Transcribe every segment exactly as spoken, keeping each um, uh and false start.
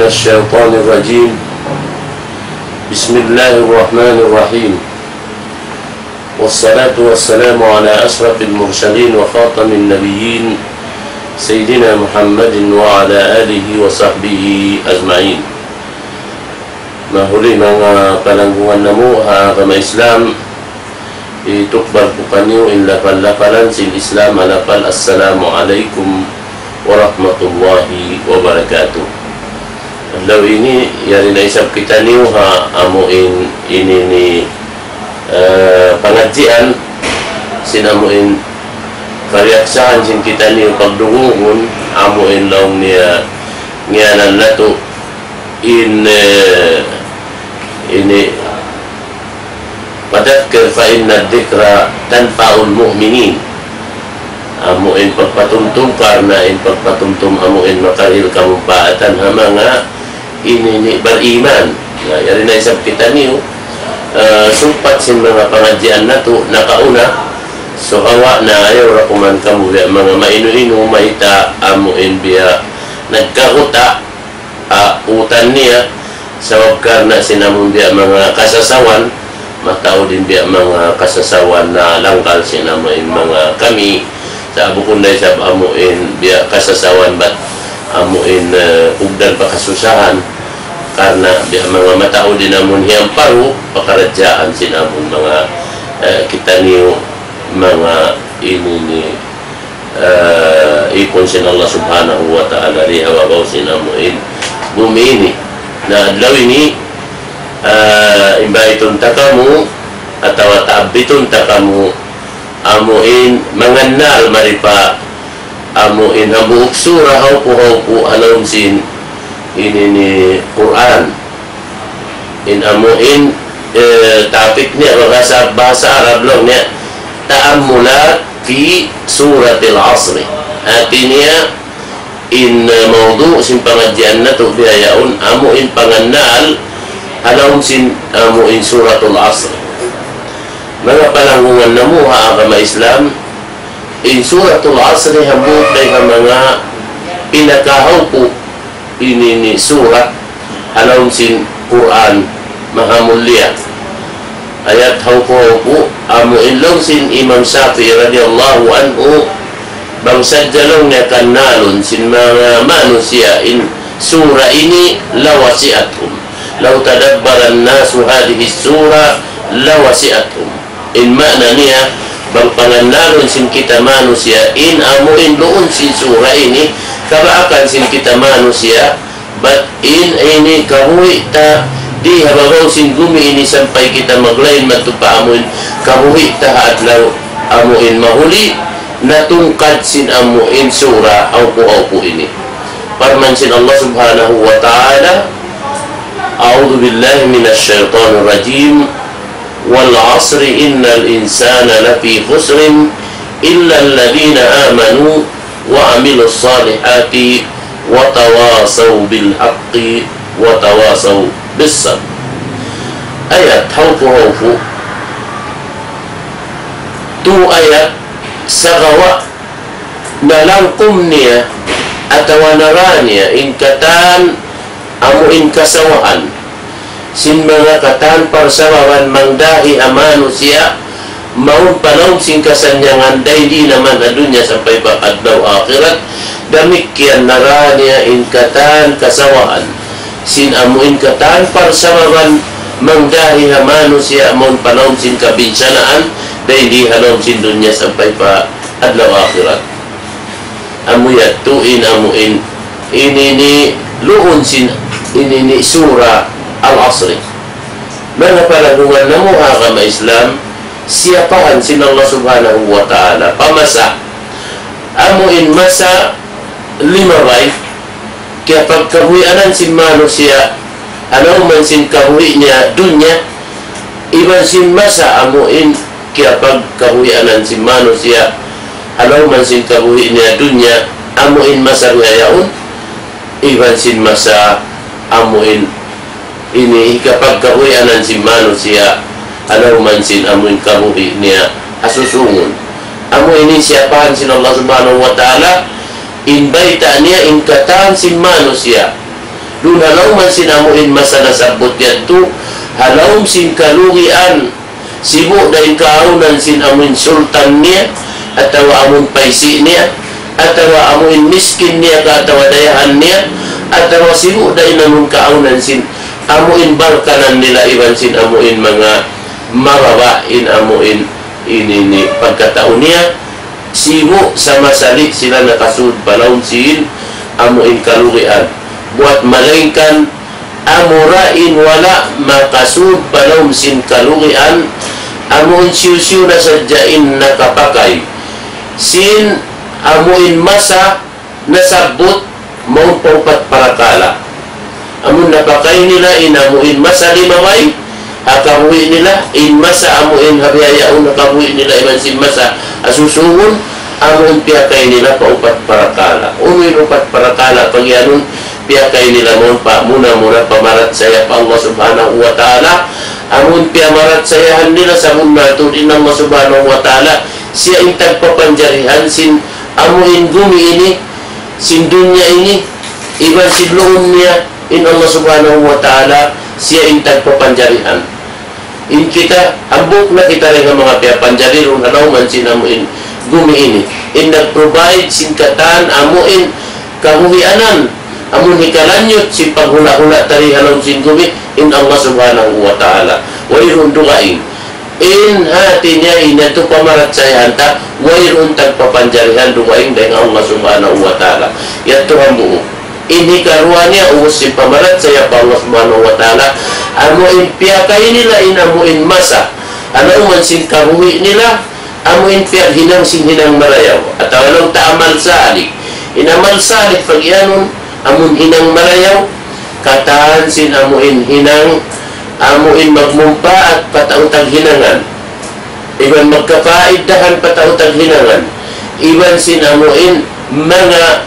الشيطان الرجيم. بسم الله الرحمن الرحيم. والصلاة والسلام على أشرف المرسلين وخاتم النبيين سيدنا محمد وعلى آله وصحبه أجمعين. Mahuli manga palanggungan namu' ha agama Islam, hitukbal ku kaniyu in lapal-lapalan sin Islam, ha lapal Assalamu alaykum warahmatullahi wabarakatuh. Adlaw ini, yari na isab kitaniyu ha amu in ini ni, eh, pangadjian sin amu in kariyaksahan sin kitaniyu pagdungugun, amu in laung niya ngiyanan natu' in, eh, ini, فذكر فإن الذكرى تنفع المؤمنين. Amu in pagpatumtum, karna' in pagpatumtum amu in makarihil kamumpaatan ha manga ini ni bariman. Na, yari na isab kitaniyu, eh, sumpat sin manga pangadjian natu' nakauna. So, awa' na ayaw ra kuman kamu biya' manga mainu-inu, mayta' amu in biya' nagkaguta' ah, utan niya, sabab karna' sin amun biya' manga kasasawan, mataud in biya' manga kasasawan na langkal sin amu in manga kami, sa' bukun da isab amu in biya' kasasawan bat amu in, eh, ugdan pa kasusahan, karna' biya' manga mataud in amun hiyamparu, pakaradjaan sin amun manga, eh, kitaniyu manga ini ni ah, ipun sin Allah Subhanahu wa Ta'ala di ha babaw sin amu in bumi ini. Na adlaw ini, ah, imbaytun ta kamu, atawa taabitun ta kamu, amu in mangannal mari pa, amu in hambuuk sura hawpu-hawpu ha lawm sin ini ni Qur'an. In amu in, eh, topic niya bahasa, bahasa Arab laung niya, تأملات في سورة العصر. Hati niya, in, eh, mawdu' sin pangadjian natu' bihaun, amu in pangannal, ha lawm sin, amu in Suratul Asr. Manga palanggungan namu' ha agama Islam, in Suratul Asr hambuuk dayn ha manga pinakahawpu' ini ni surat ha lawm sin Qur'an mahamulliya. Ayat hawpu'-hawpu', amu in laung sin Imam Shafi'i radiyallahu anhu, bang sadja laung niya kannalun sin manga manusiya' in sura ini, لوسعتهم. لو تدبر الناس هذه السورة لوسعتهم. In maana niya, bang pangannalun sin kita manusiya' in amu in duun sin sura ini, kabaakan sin kita manusiya', bat in ini kabuhi' ta di ha babaw sin gumi ini sampay kita maglain madtu pa amu in kabuhi' ta ha adlaw amu in mahuli, natungkad sin amu in sura hawpu'-hawpu' ini. Parman sin Allah Subhanahu wa Ta'ala, أعوذ بالله من الشيطان الرجيم. والعصر إن الإنسان لفي خسر إلا الذين آمنوا وعملوا الصالحات وتواصوا بالحق وتواصوا بالصبر. Ayat hawpu'-hawpu'. Tu ayat sagawa' nalangkum niya atawa nara niya in katan amu in kasawahan sin manga katan parsababan mangdahi ha manusiya' mawn pa lawm sin kasannyangan dayn di naman ha dunya sampay pa adlaw akhirat. Damikkiyan nara niya in katan kasawahan sin amu in katan parsababan mangdahi ha manusiya' mawn pa lawm sin kabinsanaan dayn di ha lawm sin dunya sampay pa adlaw akhirat. Amu yadtu in amu in ini ni luun sin ini ni sura Al-Asri. Manga palanggungan namu' ha agama Islam, siyapahan sin Allah Subhanahu wa Ta'ala pa masa, amu in masa limabay, kiyapagkabuhianan sin manusiya', ha lawm sin kabuhi' niya dunya, iban sin masa amu in kiyapagkabuhianan sin manusiya', ha lawm sin kabuhi' niya dunya, amu in masa bihaun, iban sin masa amu in ini hikapagkabuhianan sin manusiya', ha lawm sin amu in kabuhi' niya ha susungun. Amu ini siyapahan sin Allah Subhanahu wa Ta'ala, in bayta' niya in katan sin manusiya'. Duun ha lawm sin amu in masa nasabbut yadtu, ha lawm sin kalugian, sibu' da in kaawnan sin amu in sultan niya, atawa amu in paisi' niya, atawa amu in miskin niya ka atawa dayahan niya, atawa sibu' da in amu in kaawnan sin amu in barkanan nila iban sin amu in manga mababa' in amu in ini ni pagkatau niya, sibu' sama sali sila nakasud pa lawm sin amu in kalugian. Buat malaingkan amura in wala' makasud pa lawm sin kalugian, amu in hisiyu-siyu na sadja in nakapakay sin amu in masa nasabbut mawn pa upat parakala'. Amu in napakay nila in amu in masa limabay ha kabuhi' nila, in masa amu in ha bihaun ha kabuhi' nila iban sin masa ha susungun, amu in piyakay nila pa upat parakala'. Unu in upat parakala' pagiyanun piyakay nila? Mawn pa muna-muna pamarachaya pa Allah Subhanahu wa Ta'ala. Amu in piyamarachayahan nila sabunnal tuud in Allah Subhanahu wa Ta'ala, siya in tagpapanjarihan sin amu in gumi ini, sin dunya ini, iban sin luun niya, in Allah Subhanahu wa Ta'ala, siya in tagpapanjarihan. In kita, hambuuk na kita dayn ha manga piyapanjari duun ha lawm sin amu in gumi ini. In nag-provide sin katan amu in kabuhianan, amu in hikalanyut sin paghula'-hula' ta di ha lawm sin gumi, in Allah Subhanahu wa Ta'ala. Wayruun dugaing. In hati niya in yadtu pamarachayahan ta, wayruun tagpapanjarihan dugaing dayn ha Allah Subhanahu wa Ta'ala. Yadtu hambuuk. In hikaruwa niya, ubus sin pamarachaya pa Allah Subhanahu wa Ta'ala, amu in piyakay nila in amu in masa, amu in sin kabuhi' nila, amu in piyaghinang sin hinang marayaw, atawa laung ta amal salih. In amal salih pagiyanun, amu in hinang marayaw, katan sin amu in hinang, amu in magmumpaat pa tau taghinangan, iban magkapaidahan pa tau taghinangan, iban sin amu in manga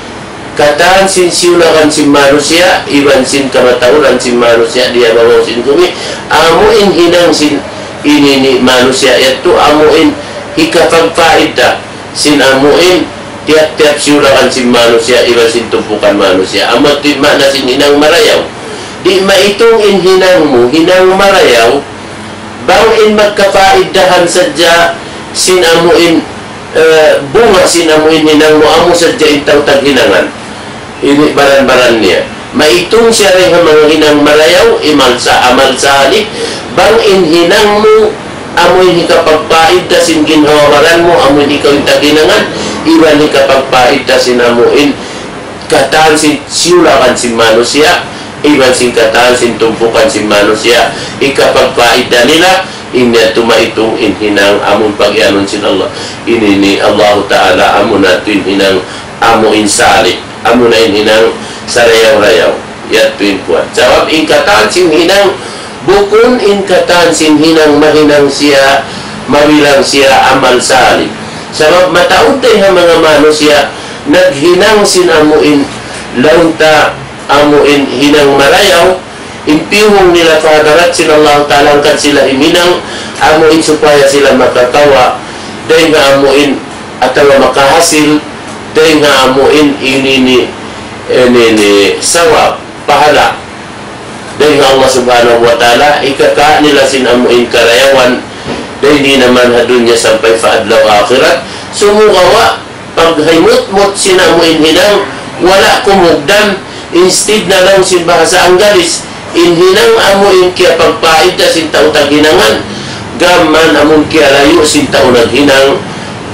katan sin siyulakan sin manusiya', iban sin kamatauran sin manusiya' di ha babaw sin gumi, amu in hinang sin ini ni manusiya' yadtu, amu in hikapagpaida sin amu in tiyap-tiyap siyulakan sin manusiya', iban sin tumpukan manusiya'. Amu yadtu in maana sin hinang marayaw. Di' maitung in hinang mu, hinang marayaw, bang in magkapaidahan sadja sin amu in, eh, bunga sin amu in hinang mu, amu sadja in tau taghinangan. Ini baran-baran niya. Maitung siya dayn ha manga hinang marayaw, imal sa, amal salih, bang in hinang mu, amu in hikapagpaida sin ginhawa-baran mu, amu in ikaw in taghinangan, iban hikapagpaida sin amu in katan sin siyulakan sin manusiya', iban sin katan sin tumpukan sin manusiya', hikapagpaida nila, in yadtu maitung in hinang amu in pagiyanun sin Allah. Ini ni Allahu Ta'ala, amu na yadtu in hinang amu in salih, amu na in hinang sarayaw-rayaw. Yadtu in kuwan. Sabab in katan sin hinang, bukun in katan sin hinang mahinang siya, mabilang siya amal salih. Sabab mataud dayn ha manga manusiya', naghinang sin amu in laung ta amu in hinang marayaw, in piyuhung nila pa hadarat sin Allah Ta'ala hangkan sila himinang, amu in supaya sila makakawa' dayn ha amu in, atawa makahasil dayn ha amu in ini ni, ini ni sawab, pahala dayn ha Allah Subhanahu wa Ta'ala, hikaka' nila sin amu in karayawan, dayn di naman ha dunya sampay pa adlaw akhirat. Sumagawa', paghimutmut sin amu in hinang, wala' kumugdan, instead na laung sin bahasa Anggalis, in hinang amu in kiyapagpaida sin tau taghinangan, gam man amu in kiyalayu' sin tau naghinang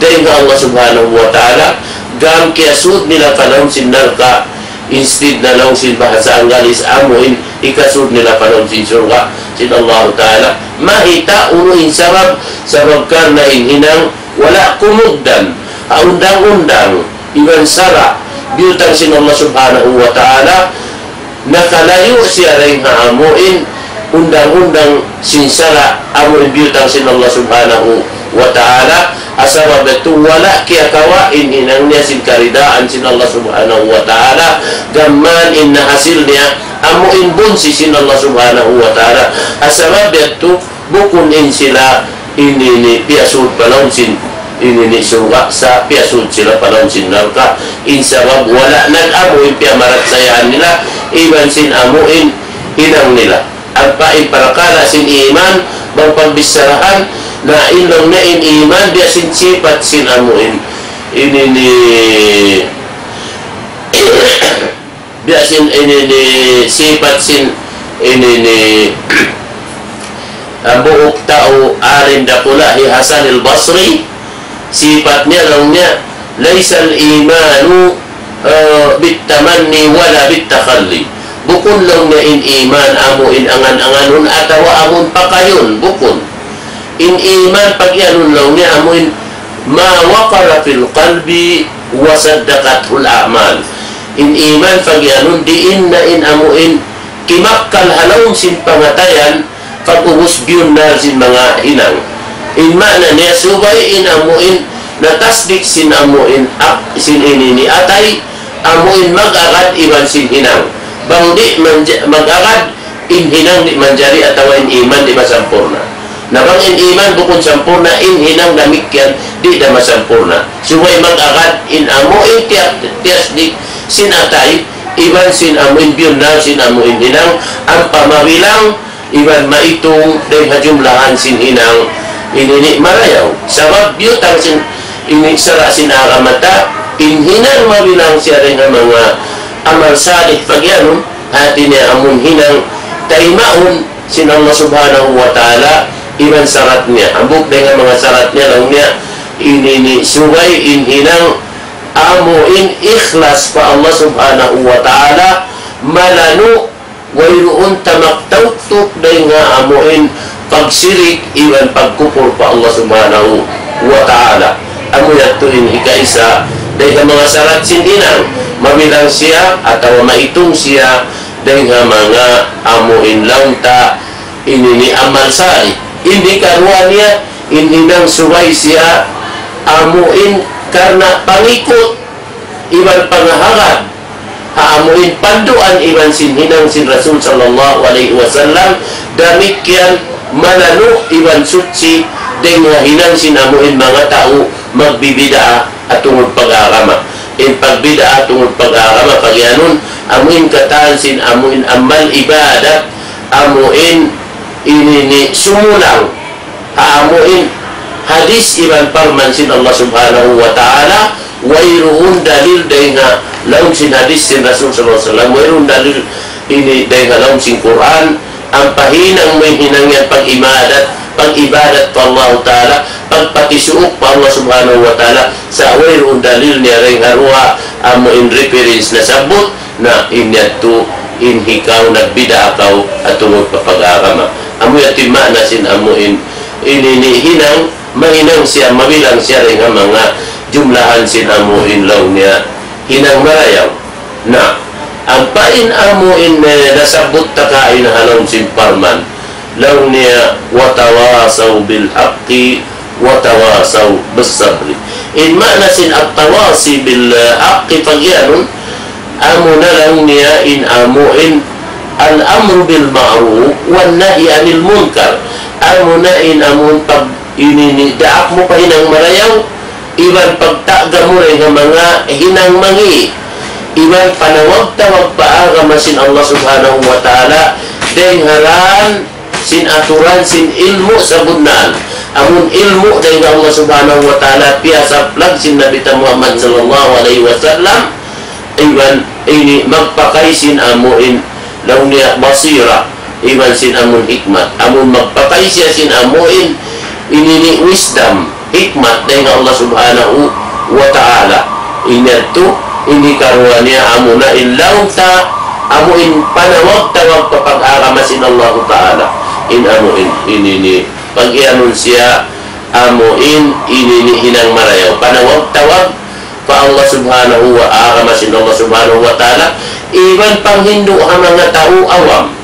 dayn ha Allah Subhanahu wa Ta'ala, gam kiyasud nila pa lawm sin narka', instead na laung sin bahasa Anggalis amu in hikasud nila pa lawm sin surga' sin Allah Ta'ala. Mayta' unu in sabab? Sabab karna' in hinang wala' kumugdan ha undang-undang iban sara' biyutang sin Allah Subhanahu wa Ta'ala, nakalayu' siya dayn ha amu in undang-undang sin sara' amu in biyutang sin Allah Subhanahu wa Ta'ala, ha sabab yadtu wala' kiyakawa' in hinang niya sin karidaan sin Allah Subhanahu wa Ta'ala, gam man in nahasil niya amu in bunsi sin Allah Subhanahu wa Ta'ala, ha sabab yadtu bukun in sila ini ni piyasud pa lawm sin ini ni surga', sa' piyasud sila pa lawm sin narka'. In sabab wala' nag-amu in piyamarachayahan nila, iban sin amuin hinang nila. Ampa in parakala' sin iman, bang pagbicharahan, na in laung niya in iman, biya' sin sipat sin amuin. Ini ini, biya' sin ini ini, sipat sin ini ini, hambuuk tau alim dakula' hi Hasan al-Basri, sipat niya laung niya, ليس الإيمان, eh, بالتمني ولا بالتخلي. Bukun laung niya in iman amu in angan-anganun atawa amun pakayun, bukun. In iman pagiyanun laung niya amu in ما وقر في القلب وصدقته الأعمال. In iman pagiyanun diin na in amu in kimakkal ha lawm sin pangatayan, pag'ubus biyunnal sin manga hinang. In maana niya subay in amu in natasdik sin amu in ak-, sin ini ini atay, amu in mag-agad iban sin hinang. Bang di' manja-, mag-agad, in hinang di' manjari atawa in iman di' masampurna'. Na bang in iman bukun sampurna', in hinang damikkiyan di' da masampurna'. Subay mag-agad in amu in tiya-, tiyasdik sin atay, iban sin amu in biyunnal sin amu in hinang, ampa mabilang, iban maitung dayn ha jumlahan sin hinang ini ini marayaw. Sabab biyutang sin ini sara' sin agama ta, in hinang mabilang siya dayn ha manga amal salih pagiyanun, hati niya amun hinang taymaun sin Allah Subhanahu wa Ta'ala, iban sarat niya. Hambuuk dayn ha manga sarat niya laung niya, ini ini subay in hinang amu in ikhlas pa Allah Subhanahu wa Ta'ala, malanu', wayruun tamak tautuk dayn ha amu in pagsirik iban pagkupur pa Allah Subhanahu wa Ta'ala. Amu yadtu in hikaisa dayn ha manga sarat sin hinang, mabilang siya atawa maitung siya dayn ha manga amu in laung ta ini ini amal salih. In hikaruwa niya, in hinang subay siya amu in karna' pangikut iban pangahagad ha amu in panduan iban sin hinang sin Rasul sallallahu alayhi wasallam, damikkiyan malanu' iban suchi dayn ha hinang sin amu in manga tau magbibid'a tungud pag-agama. In pagbid'a tungud pag-agama, pagiyanun, amu in katan sin amu in amal ibadat, amu in ini ini sumulang ha amu in hadis iban parman sin Allah Subhanahu wa Ta'ala, wayruun dalil dayn ha lawm sin hadis sin Rasul sallallahu alayhi wasallam, wayruun dalil ini dayn ha lawm sin Qur'an, ampa hinang mu in hinang yan pag-ibadat, pag-ibadat pa Allah Ta'ala, pagpatisuuk pa Allah Subhanahu wa Ta'ala, sa' wayruun dalil niya dayn ha duwa amu in reference nasabbut, na in yadtu in hikaw nagbid'a kaw tungud pa pag-agama. Amu yadtu in maana sin amu in, ini ini hinang, mahinang siya, mabilang siya dayn ha manga jumlahan sin amu in laung niya hinang marayaw. Na, ampa in amu in, eh, nasabbut ta kaina ha lawm sin parman, laung niya, وتواصوا بالحق وتواصوا بالصبر. In maana sin التواصي بالحق pagiyanun, amu na laung niya in amu in الأمر بالمعروف والنهي عن المنكر. Amu na in amu in pag ini ini daak mu pa hinang marayaw, iban pagta'ga mu dayn ha manga hinang mangi', iban panawag-tawag pa agama sin Allah Subhanahu wa Ta'ala, dayn ha ran sin aturan sin ilmu' sabunnal. Amun ilmu' dayn ha Allah Subhanahu wa Ta'ala, piyasaplag sin Nabi ta Muhammad sallallahu alayhi wasallam, iban ini magpakay sin amu in laung niya basira, iban sin amun hikmat. Amun magpakay siya sin amu in ini ini wisdom, hikmat dayn ha Allah Subhanahu wa Ta'ala. In yadtu, in hikaruwa niya amu na in laung ta, amu in panawag-tawag pa pag-agama sin Allah Ta'ala. In amu in, ini ini, pagiyanun siya, amu in, ini ini hinang marayaw. Panawag-tawag pa Allah Subhanahu wa, agama sin Allah Subhanahu wa Ta'ala, iban panghindu' ha manga tau awam.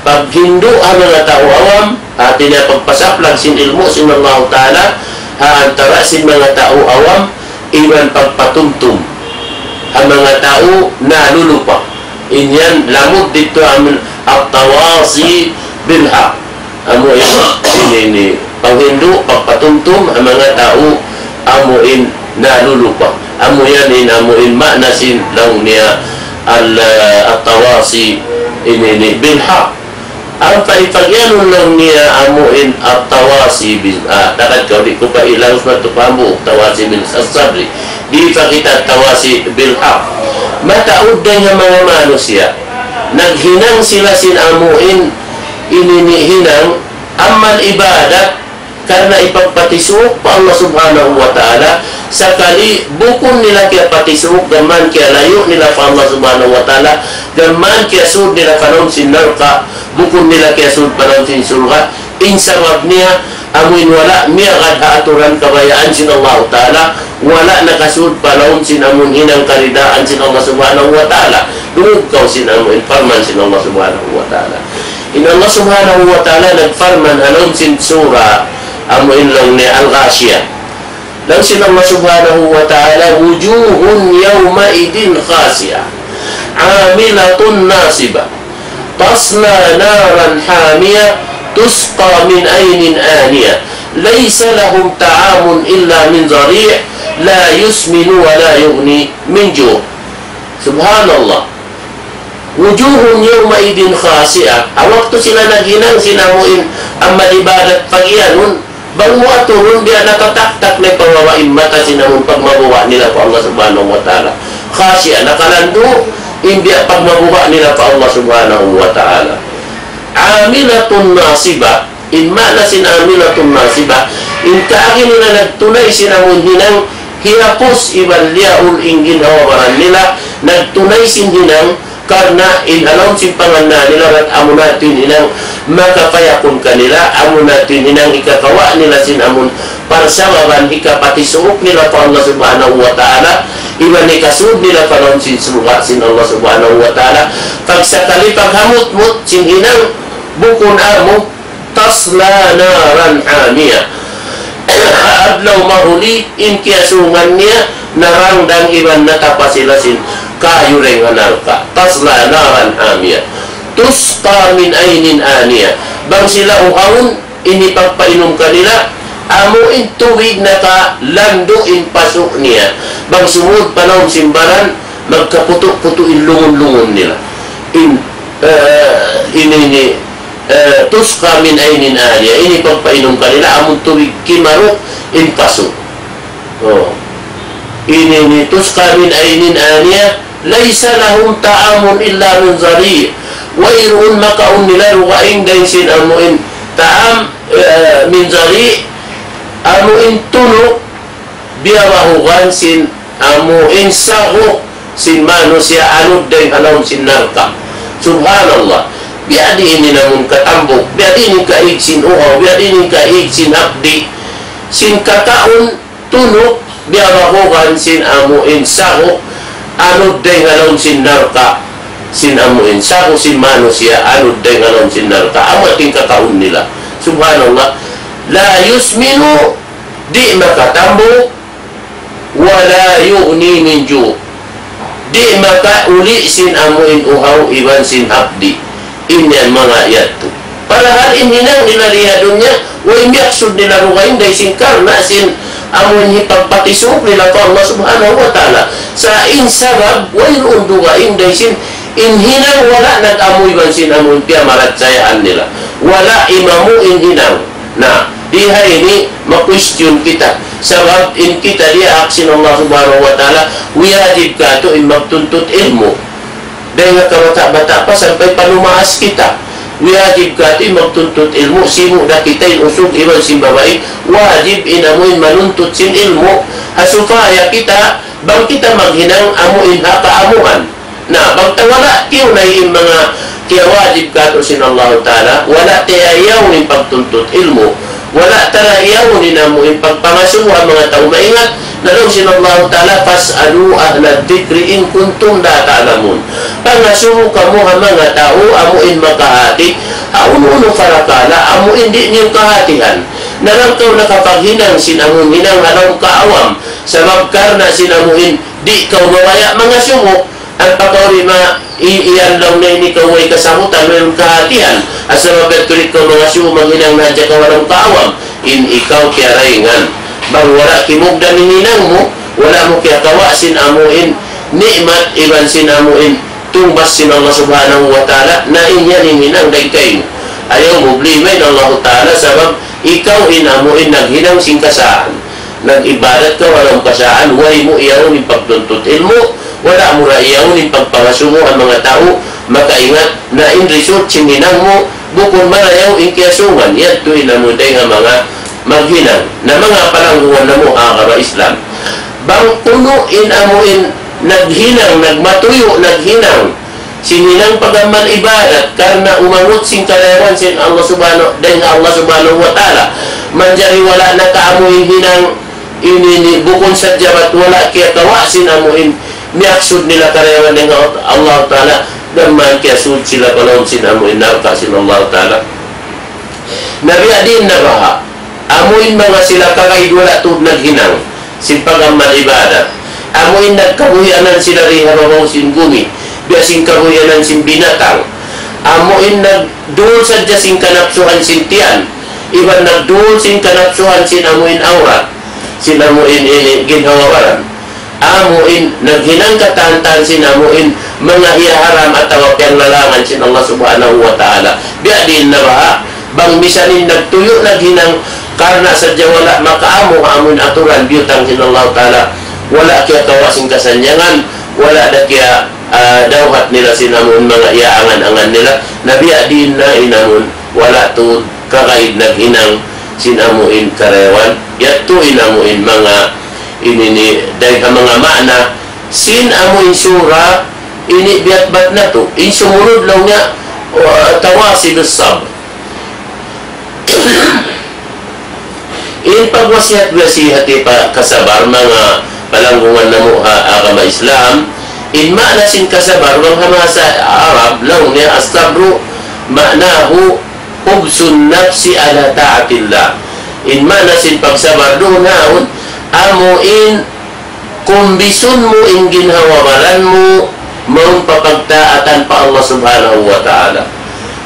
Paghindu' ha manga tau awam, hati niya pagpasaplag sin ilmu' sin Allah Ta'ala, ha antara sin manga tau awam, iban pagpatumtum ha manga tau nalulupa. In yan lamud didtu amun التواصي بالحق. Amu in, ini, ini, panghindu', pagpatumtum ha manga tau, amu in nalulupa. Amu yan in, amu in maana sin laung niya, al-, at-tawasi ini, ini bil haq. Ampa in pagiyanun laung niya amu in at-tawasi bil, ah, takad kaw di' ku pa ilang sa matupamu, tawasi bil sabri. Di' pa kita tawasi bil haq. Mataud dayn ha manga manusiya'. Naghinang sila sin amu in ini, ini hinang amal ibadat karna' hipagpatisuuk pa Allah Subhanahu wa Ta'ala, sakali bukun nila kiyapatisuuk, gām kiyalayu' nila pa Allah Subhanahu wa Ta'ala, gām kiyasud nila pa lawm sin narka', bukun nila kiyasud pa lawm sin surga'. In sabab niya, amu in wala' miyagad ha aturan kabayaan sin Allah Ta'ala, wala' nakasud pa lawm sin amu in hinang karidaan sin Allah Subhanahu wa Ta'ala. Dungug kaw sin amu in parman sin Allah Subhanahu wa Ta'ala. In Allah Subhanahu wa Ta'ala nagparman ha lawm sin sura amu in laung niya Al-Ghashiyah. Laung sin Allah Subhanahu wa Ta'ala, وجوه يومئذ خاشعة عاملة ناصبة تصلى نارا حامية تسقى من عين آنية ليس لهم طعام إلا من ضريع لا يسمن ولا يغني من جوع. Subhanallah. وجوه يومئذ خاشعة. Ha waktu sila naghinang sin amu in amal ibadat pagiyanun, bang mu aturun biya' natataktak na in pamaba' in mata sin amu in pagmabuga' nila pa Allah Subhanahu wa Ta'ala. Khashi'a, nakalandu' in biya' pagmabuga' nila pa Allah Subhanahu wa Ta'ala. عاملة ناصبة. In maana sin عاملة ناصبة, in kaagi nila nagtunay sin amu in hinang, hiyapus iban liyaul in ginhawa-baran nila, nagtunay sin hinang, karna' in ha lawm sin pangannal nila, bat amu na tuud in hinang makapayakun kanila, amu na tuud in hinang hikakawa' nila sin amu in parsababan hikapatisuuk nila pa Allah Subhanahu wa Ta'ala, iban hikasud nila pa lawm sin surga' sin Allah Subhanahu wa Ta'ala. Pagsakali paghamutmut sin hinang, bukun amu, تصلى نارا حامية. Adlaw mahuli in kiyasuungan niya, narangdang iban natapa sila sin kayu dayn ha narka'. تصلى نارا حامية. تسقى من عين آنية. Bang sila uhawun, in hipagpainum kanila, amu in tubig nakalandu' in pasu' niya. Bang sumud pa lawm sin baran, magkaputu'-putu' in lungun-lungun nila. In, eh, ini, ini, eh, تسقى من عين آنية. In hipagpainum kanila, amu in tubig kimaru' in pasu'. Oh. Ini, ini, تسقى من عين آنية. ليس لهم طعام إلا من ضريع. Wayruun makaun nila dugaing dayn sin amu in ta'am, eh, من ضريع, amu in tunuk, biya' bahugan sin amu in sagu sin manusiya' anud dayn ha lawm sin narka'. Subhanallah. Biya' diin in amu in katambuk, biya' diin in kaig sin uhaw, biya' diin in kaig sin hapdi', sin kakaun tunuk, biya' bahugan sin amu in sagu anud dayn ha lawm sin narka', sin amu in sagu sin manusiya' anud dayn ha lawm sin narka', amu in kakaun nila. Subhanallah. لا يسمن, di' makatambuk, ولا يغني من جوع. Di' makauli' sin amu in uhaw iban sin hapdi'. In yan manga yadtu. Parahal in hinang nila di ha dunya, way miyaksud nila dugaing dayn sin karna' sin amu in hipagpatisuuk nila pa Allah Subhanahu wa Ta'ala. Sa' in sabab, wayruun dugaing dayn sin in hinang wala' nag-amu iban sin amu in piyamaratsayaan nila. Wala' imamu in hinang. Na, di ha ini ma-question kita. Sabab in kita diyaak sin Allah Subhanahu wa Ta'ala, wiyajib katu' in magtuntut ilmu'. Dayn ha kabata'-bata' pa sampay pa lumaas kita. Wiyajib katu' in magtuntut ilmu', sibu' da kita in usug iban sin babai. Wajib in amu in manuntut sin ilmu'. Ha supaya kita, bang kita maghinang amu in ha kaamuhan. Na, bang ta wala' tiyunay in manga kiyawajib katu' sin Allahu Ta'ala, wala' ta iyayaun in pagtuntut ilmu', wala' ta iyayaun in amu in pagpangasubu ha manga tau maingat, na laung sin Allahu Ta'ala, فاسألوا أهل الذكر إن كنتم لا تعلمون. Pangasubu kamu ha manga tau amu in makahati, ha unu-unu parakala' amu in di' niyu kahatihan. Na bang kaw nakapaghinang sin amu in hinang ha lawm kaawam, sabab karna' sin amu in di' kaw mabaya' mangasubu, ampa kaw di' ma-, i-, iyan laung niya ini kaw way kasabutan, wayruun kahatihan. Asal mabaya' tuud kaw mangasubu, maghinang na hadja kaw ha lawm kaawam. In ikaw kiyarayngan. Bang wala' kimugdan in hinang mu, wala' mu kiyakawa' sin amu in ni'mat iban sin amu in tungbas sin Allah Subhanahu wa Ta'ala, na in yan in hinang dayn kaymu. Ayaw mu problema in Allah Ta'ala, sabab ikaw in amu in naghinang sin kasaan. Nag-ibadat kaw ha lawm kasaan, way mu iyaun in pagtuntut ilmu', wala' mu ra iyaun in pagpangasubu ha manga tau makaingat, na in result sin hinang mu, bukun marayaw in kiyasungan, yadtu in amu dayn ha manga maghinang. Na manga palanggungan namu' ha agama Islam. Bang kunu' in amu in naghinang, nagmatuyu', naghinang sin hinang pag-amal ibadat, karna' umangut sin karayawan sin Allah Subhanahu, dayn ha Allah Subhanahu wa Ta'ala. Manjari wala' na kaamu in hinang ini, ini bukun sadja bat wala' kiyakawa' sin amu in miyaksud nila karayawan dayn ha Allah Ta'ala, damikkiyan kiyasud sila pa lawm sin amu in narka' sin Allah Ta'ala. Na biya' diin na baha', amu in manga sila kagaid wala' tuud naghinang sin pag-amal ibadat. Amu in nagkabuhianan sila di ha babaw sin bumi, biya' sin kabuhianan sin binatang. Amu in nagdul sadja sin kanapsuhan sin tiyan, iban nagdul sin kanapsuhan sin amu in awrat, sin amu in ini ginhawa-baran. Amu in naghinang katan-katan sin amu in manga hiyaharam atawa piyanglalangan sin Allah Subhanahu wa Ta'ala. Biya' diin na baha', bang misan in nagtuyu' naghinang karna' sadja wala' makaamu ha amu in aturan biyutang sin Allah Ta'ala, wala' kiyakawa' sin kasannyangan, wala' da kiya, ah, dawhat nila sin amu in manga iyaangan-angan nila. Na biya' diin na in amu in wala' tuud kagaid naghinang sin amu in karayawan. Yadtu in amu in manga ini ini dayn ha manga maana sin amu in sura ini biya' bat natu'. In sumunud laung niya, wa-, tawasi bis sabr. In pagwasiyat-wasiyat pa kasabar, manga palanggungan namu' ha agama Islam, in maana sin kasabar, bang ha bahasa Arab, laung niya, as-sabru ma'nahu hubsun nafsi ala ta'atillah. In maana sin pagsabar duun haun, amu in kumbisun mu in ginhawa-baran mu, mawn pa pagtaatan pa Allah Subhanahu wa Ta'ala.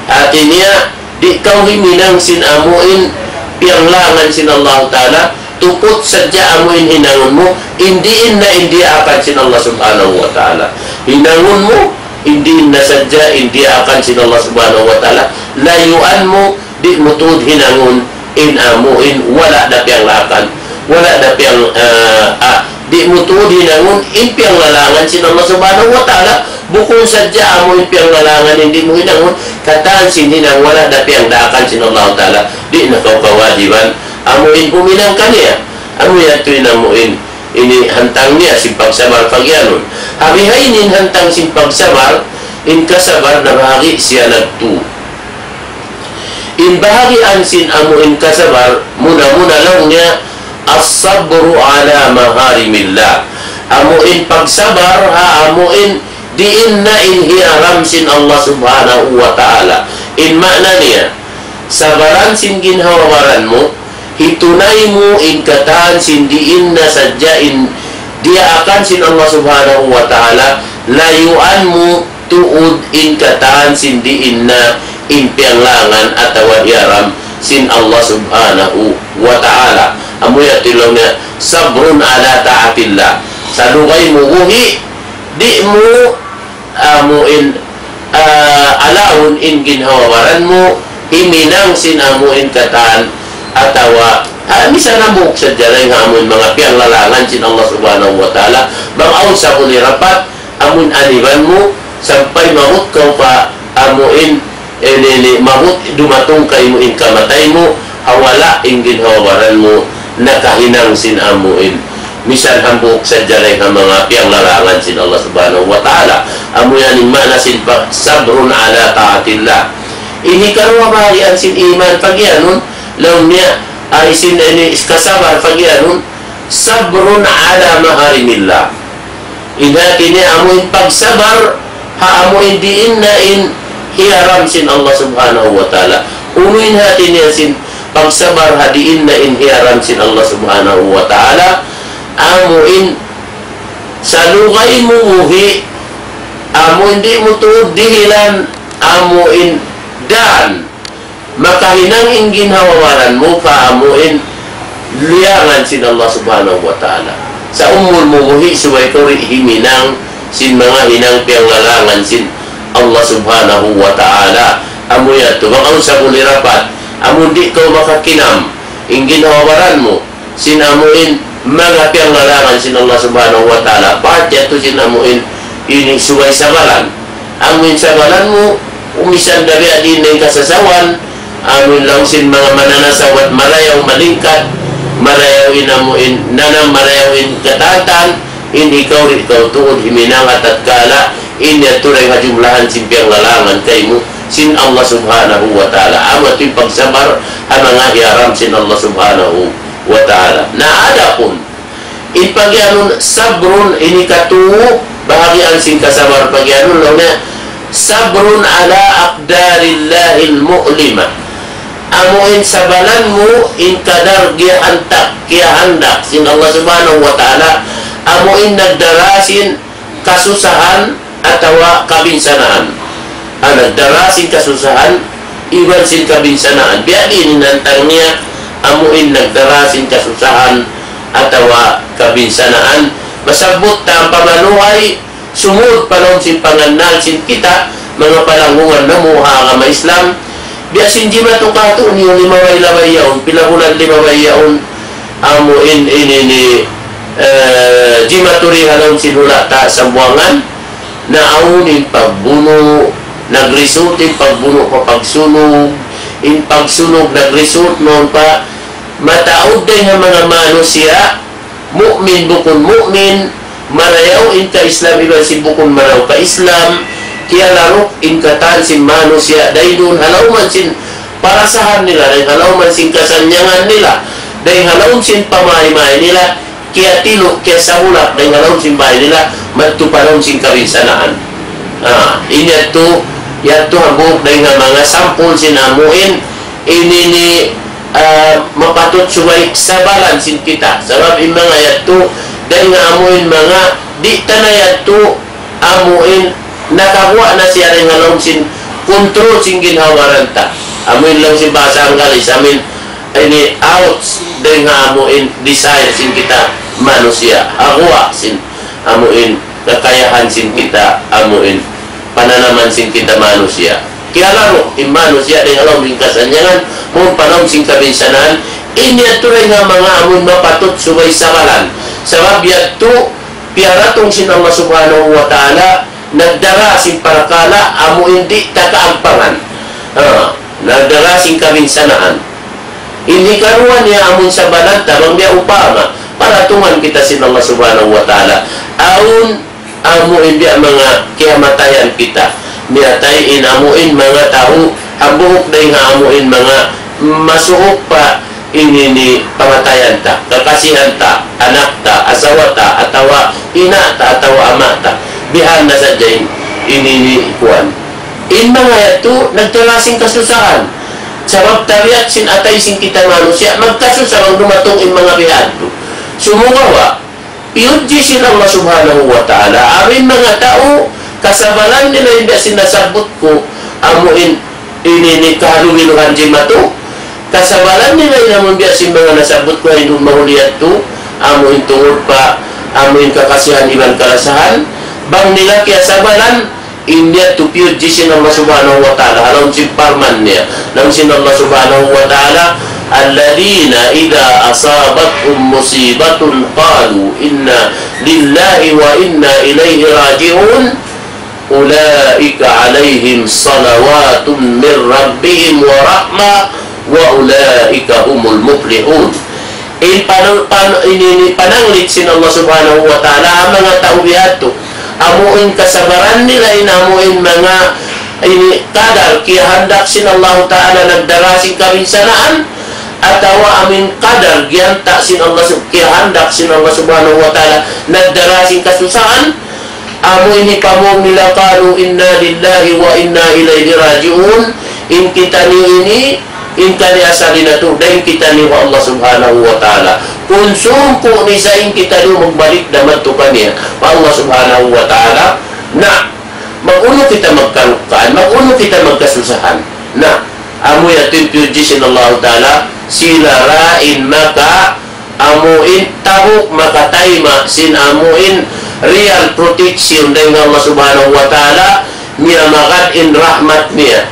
Hati niya, di' kaw himinang sin amu in piyanglangan sin Allah Ta'ala, tuput sadja amu in hinangun mu, in diin na in diyaakan sin Allah Subhanahu wa Ta'ala. Hinangun mu, in diin na sadja in diyaakan sin Allah Subhanahu wa Ta'ala, layuan mu, di' mu tuud hinangun in amu in wala' da piyanglangan, wala' da piyang, ah, ah, di' mu tuud hinangun in piyanglalangan sin Allah Subhanahu wa Ta'ala, bukun sadja amu in piyanglalangan in di' mu hinangun, katan sin hinang wala' da piyangdaakan sin Allah Ta'ala, di' na kaw kawajiban amu in huminang kaniya. Amu yadtu in amu in ini hantang niya sin pagsabar pagiyanun. Ha bihaini in hantang sin pagsabar, in kasabar nabahagi' siya nagtu. In bahagian sin amu in kasabar, muna-muna laung niya, as-sabru ala maharimillah. Amu in pagsabar ha amu in diin na in hiyaram sin Allah Subhanahu wa Ta'ala. In maana niya, sabaran sin ginhawa-baran mu, hitunay mu in katan sin diin na sadja in diyaakan sin Allah Subhanahu wa Ta'ala, layuan mu tuud in katan sin diin na in piyanglangan atawa hiyaram sin Allah Subhanahu wa Ta'ala. Amu yadtu laung niya, sabrun ala ta'atillah. Salugay mu buhi', di' mu amu in, ah, alawun in ginhawa-baran mu, himinang sin amu in katan, atawa, ah, misan hambuuk sadja dayn ha amu in manga piyanglalangan sin Allah Subhanahu wa Ta'ala, bang awn sabuli rapat, amu in aniban mu, sampay maabut kaw pa amu in, ini, ini, maabut dumatung kaymu in kamatay mu, ha wala' in ginhawa-baran mu nakahinang sin amu in misan hambuuk sadja dayn ha manga piyanglalangan sin Allah Subhanahu wa Ta'ala. Amu yan in maana sin pa-, sabrun ala ta'atillah. Ini karuwa bahagian sin iman pagiyanun, laung niya, ay sin ini kasabar pagiyanun, sabrun ala maharimillah. In hati niya amu in pagsabar ha amu in diin na in hiyaram sin Allah Subhanahu wa Ta'ala. Unu in hati niya sin pagsabar ha diin na in hiyaram sin Allah Subhanahu wa Ta'ala? Amu in salugay mu buhi', amu in di' mu tuud dihilan, amu in dan makahinang in ginhawa-baran mu pa amu in liyangan sin Allah Subhanahu wa Ta'ala. Sa' umul mu buhi' subay kaw di' himinang sin manga hinang piyanglalangan sin Allah Subhanahu wa Ta'ala. Amu yadtu, bang awn sabulirat, amu di' kaw makakinam, in ginhawa-baran mu, sin amuin manga piyanglalangan sin Allah Subhanahu wa Ta'ala, bat yadtu sin amuin ini subay sabalan. Amuin sabalan mu, umisan dabiya di' na in kasasawan, amuin laung sin manga mananasaw bat marayaw malingkat, marayaw in amuin nanam, marayaw in katān, in ikaw di' kaw tuud himinang ha tatkala, in yadtu dayn ha jumlahan sin piyanglalangan kaymu sin Allah Subhanahu wa Ta'ala. Amu yadtu in pagsabar ha manga hiyaram sin Allah Subhanahu wa Ta'ala. Na adapun in pagiyanun sabrun, ini katu bahagian sin kasabar pagiyanun, laung niya, sabrun ala aqdarillahil mu'lima. Amuin sabalan mu in kadar giyahantak, giyahandak sin Allah Subhanahu wa Ta'ala, amuin nagdara sin kasusahan atawa kabinsanaan. Ah, nagdara sin kasusahan iban sin kabinsanaan. Biya' diin in hantang niya, amuin nagdara sin kasusahan atawa kabinsanaan. Masabbut ta ampa manuhay, sumud pa lawm sin pangannal sin kita, manga palanggungan namu' ha agama Islam. Biya' sin jimatu katu' niyu limabay-labay yaun, pila bulan limabay yaun, amuin ini ini, eh, jimatu di ha lawm sin hula' ta Sambuwangan, na awn in pagbunu', nag-result in pagbunu' pa pagsunog, in pagsunog nag-result mawn pa mataud dayn ha manga manusiya', mu'min bukun mu'min, marayaw in ka-Islam iban sin bukun marayaw ka-Islam, kiyalaruk in katan sin manusiya' dayn duun ha lawm sin parasahan nila, dayn ha lawm sin kasannyangan nila, dayn ha lawm sin pamay-may nila, kiyatilu', kiyasabulak dayn ha lawm sin bay nila, madtu pa lawm sin kabinsanaan. Ah, in yadtu, yadtu hambuuk dayn ha manga sampul sin amuin, ini ini, ah, mapatut subay sabalan sin kita. Sabab in manga yadtu, dayn ha amuin manga, di' ta na yadtu, amuin, nakaguwa' na siya dayn ha lawm sin kontrol sin ginhawa-baran ta. Amuin laung sin bahasa Anggalis, amuin, ini out dayn ha amuin desire sin kita manusiya'. Haguwa' sin amuin kakayahan sin kita amuin pananaman sin kita manusiya'. Kiyalaru' in manusiya' dayn ha lawm sin kasannyangan, mawn pa lawm sin kabinsanaan, in yadtu dayn ha manga amuin mapatut subay sabalan. Sabab yadtu piyaratung sin Allah Subhanahu wa Ta'ala, nagdara sin parakala' amuin di' ta kaampangan. Ha, nagdara sin kabinsanaan. In hikaruwa niya amun sabalan ta bang biya' upama, paratungan kita sin Allah Subhanahu wa Ta'ala. Awn amuin biya' manga kiyamatayan kita. Miyatay in amuin manga tau, hambuuk dayn ha amuin manga masuuk pa ini ini pangatayan ta, kakasihan ta, anak ta, asawa ta, atawa ina' ta, atawa ama' ta. Bihan na sadja in ini ini kuwan. In manga yadtu, nagdara sin kasusahan. Sabab tabiat sin atay sin kita manusiya', magkasusa bang dumatung in manga bihan tu. Sumagawa', piyudji sin Allah Subhanahu wa Ta'ala, amuin manga tau, kasabalan nila in biya' sin nasabbut ku, amuin ini ini kahalubiluhan jimatu, kasabalan nila in amuin biya' sin manga nasabbut ku, amuin mahuli yadtu, amuin tungud pa, amuin kakasihan iban kalasahan, bang nila kiyasabalan, in yadtu piyudji sin Allah Subhanahu wa Ta'ala, ha lawm sin parman niya. Laung sin Allah Subhanahu wa Ta'ala, الذين إذا أصابتهم مصيبة قالوا إنا لله وإنا إليه راجعون أولئك عليهم صلوات من ربهم ورحمة وأولئك هم المفلحون. In panang-, pan-, ini, ini pananglit sin Allah Subhanahu wa Ta'ala, ha manga tau biya' yadtu. Amuin kasabaran nila in amuin manga ini kadar kiyahandak sin Allah Ta'ala nagdara sin kabinsanaan, atawa amuin kadar giyanta' sin Allah sub-, kiyahandak sin Allah Subhanahu wa Ta'ala nagdara sin kasusahan, amuin hipamung nila قالوا إنا لله وإنا إليه راجعون, in kitaniyu ini, in kaniya-sari natu', dayn kitaniyu pa Allah Subhanahu wa Ta'ala. Kunsum ku ni sa in kitaniyu magbalik da madtu kaniya, pa Allah Subhanahu wa Ta'ala. Na, mag-unu kita magkarukkaan, mag-unu kita magkasusahan. Na, amu yadtu in piyudji sin Allah Ta'ala, sila ra in maka amuin tabuk makataima' sin amuin real protection dayn ha Allah Subhanahu wa Ta'ala, miyamagad in rahmat niya.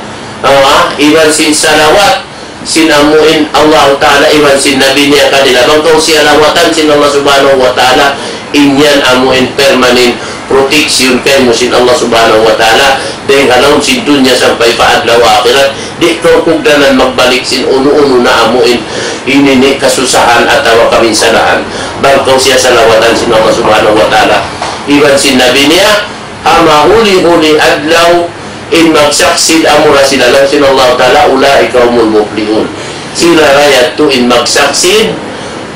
Ah, iban sin salawat sin amu in Allah Ta'ala, iban sin Nabi niya kanila. Bang kaw siya lawatan sin Allah Subhanahu wa Ta'ala, in yan amu in permanent protection kaymu sin Allah Subhanahu wa Ta'ala, dayn ha lawm sin dunya sampay pa adlaw akhirat. Di' kaw kugdanan magbalik sin unu-unu na amu in ini ni kasusahan atawa kaminsalahan. Bang kaw siya salawatan sin Allah Subhanahu wa Ta'ala, iban sin Nabi niya, ha mahuli-huli adlaw in magsaksid amura sila laung sin Allah Ta'ala, أولئك هم المفلحون. Sila ra yadtu in magsaksid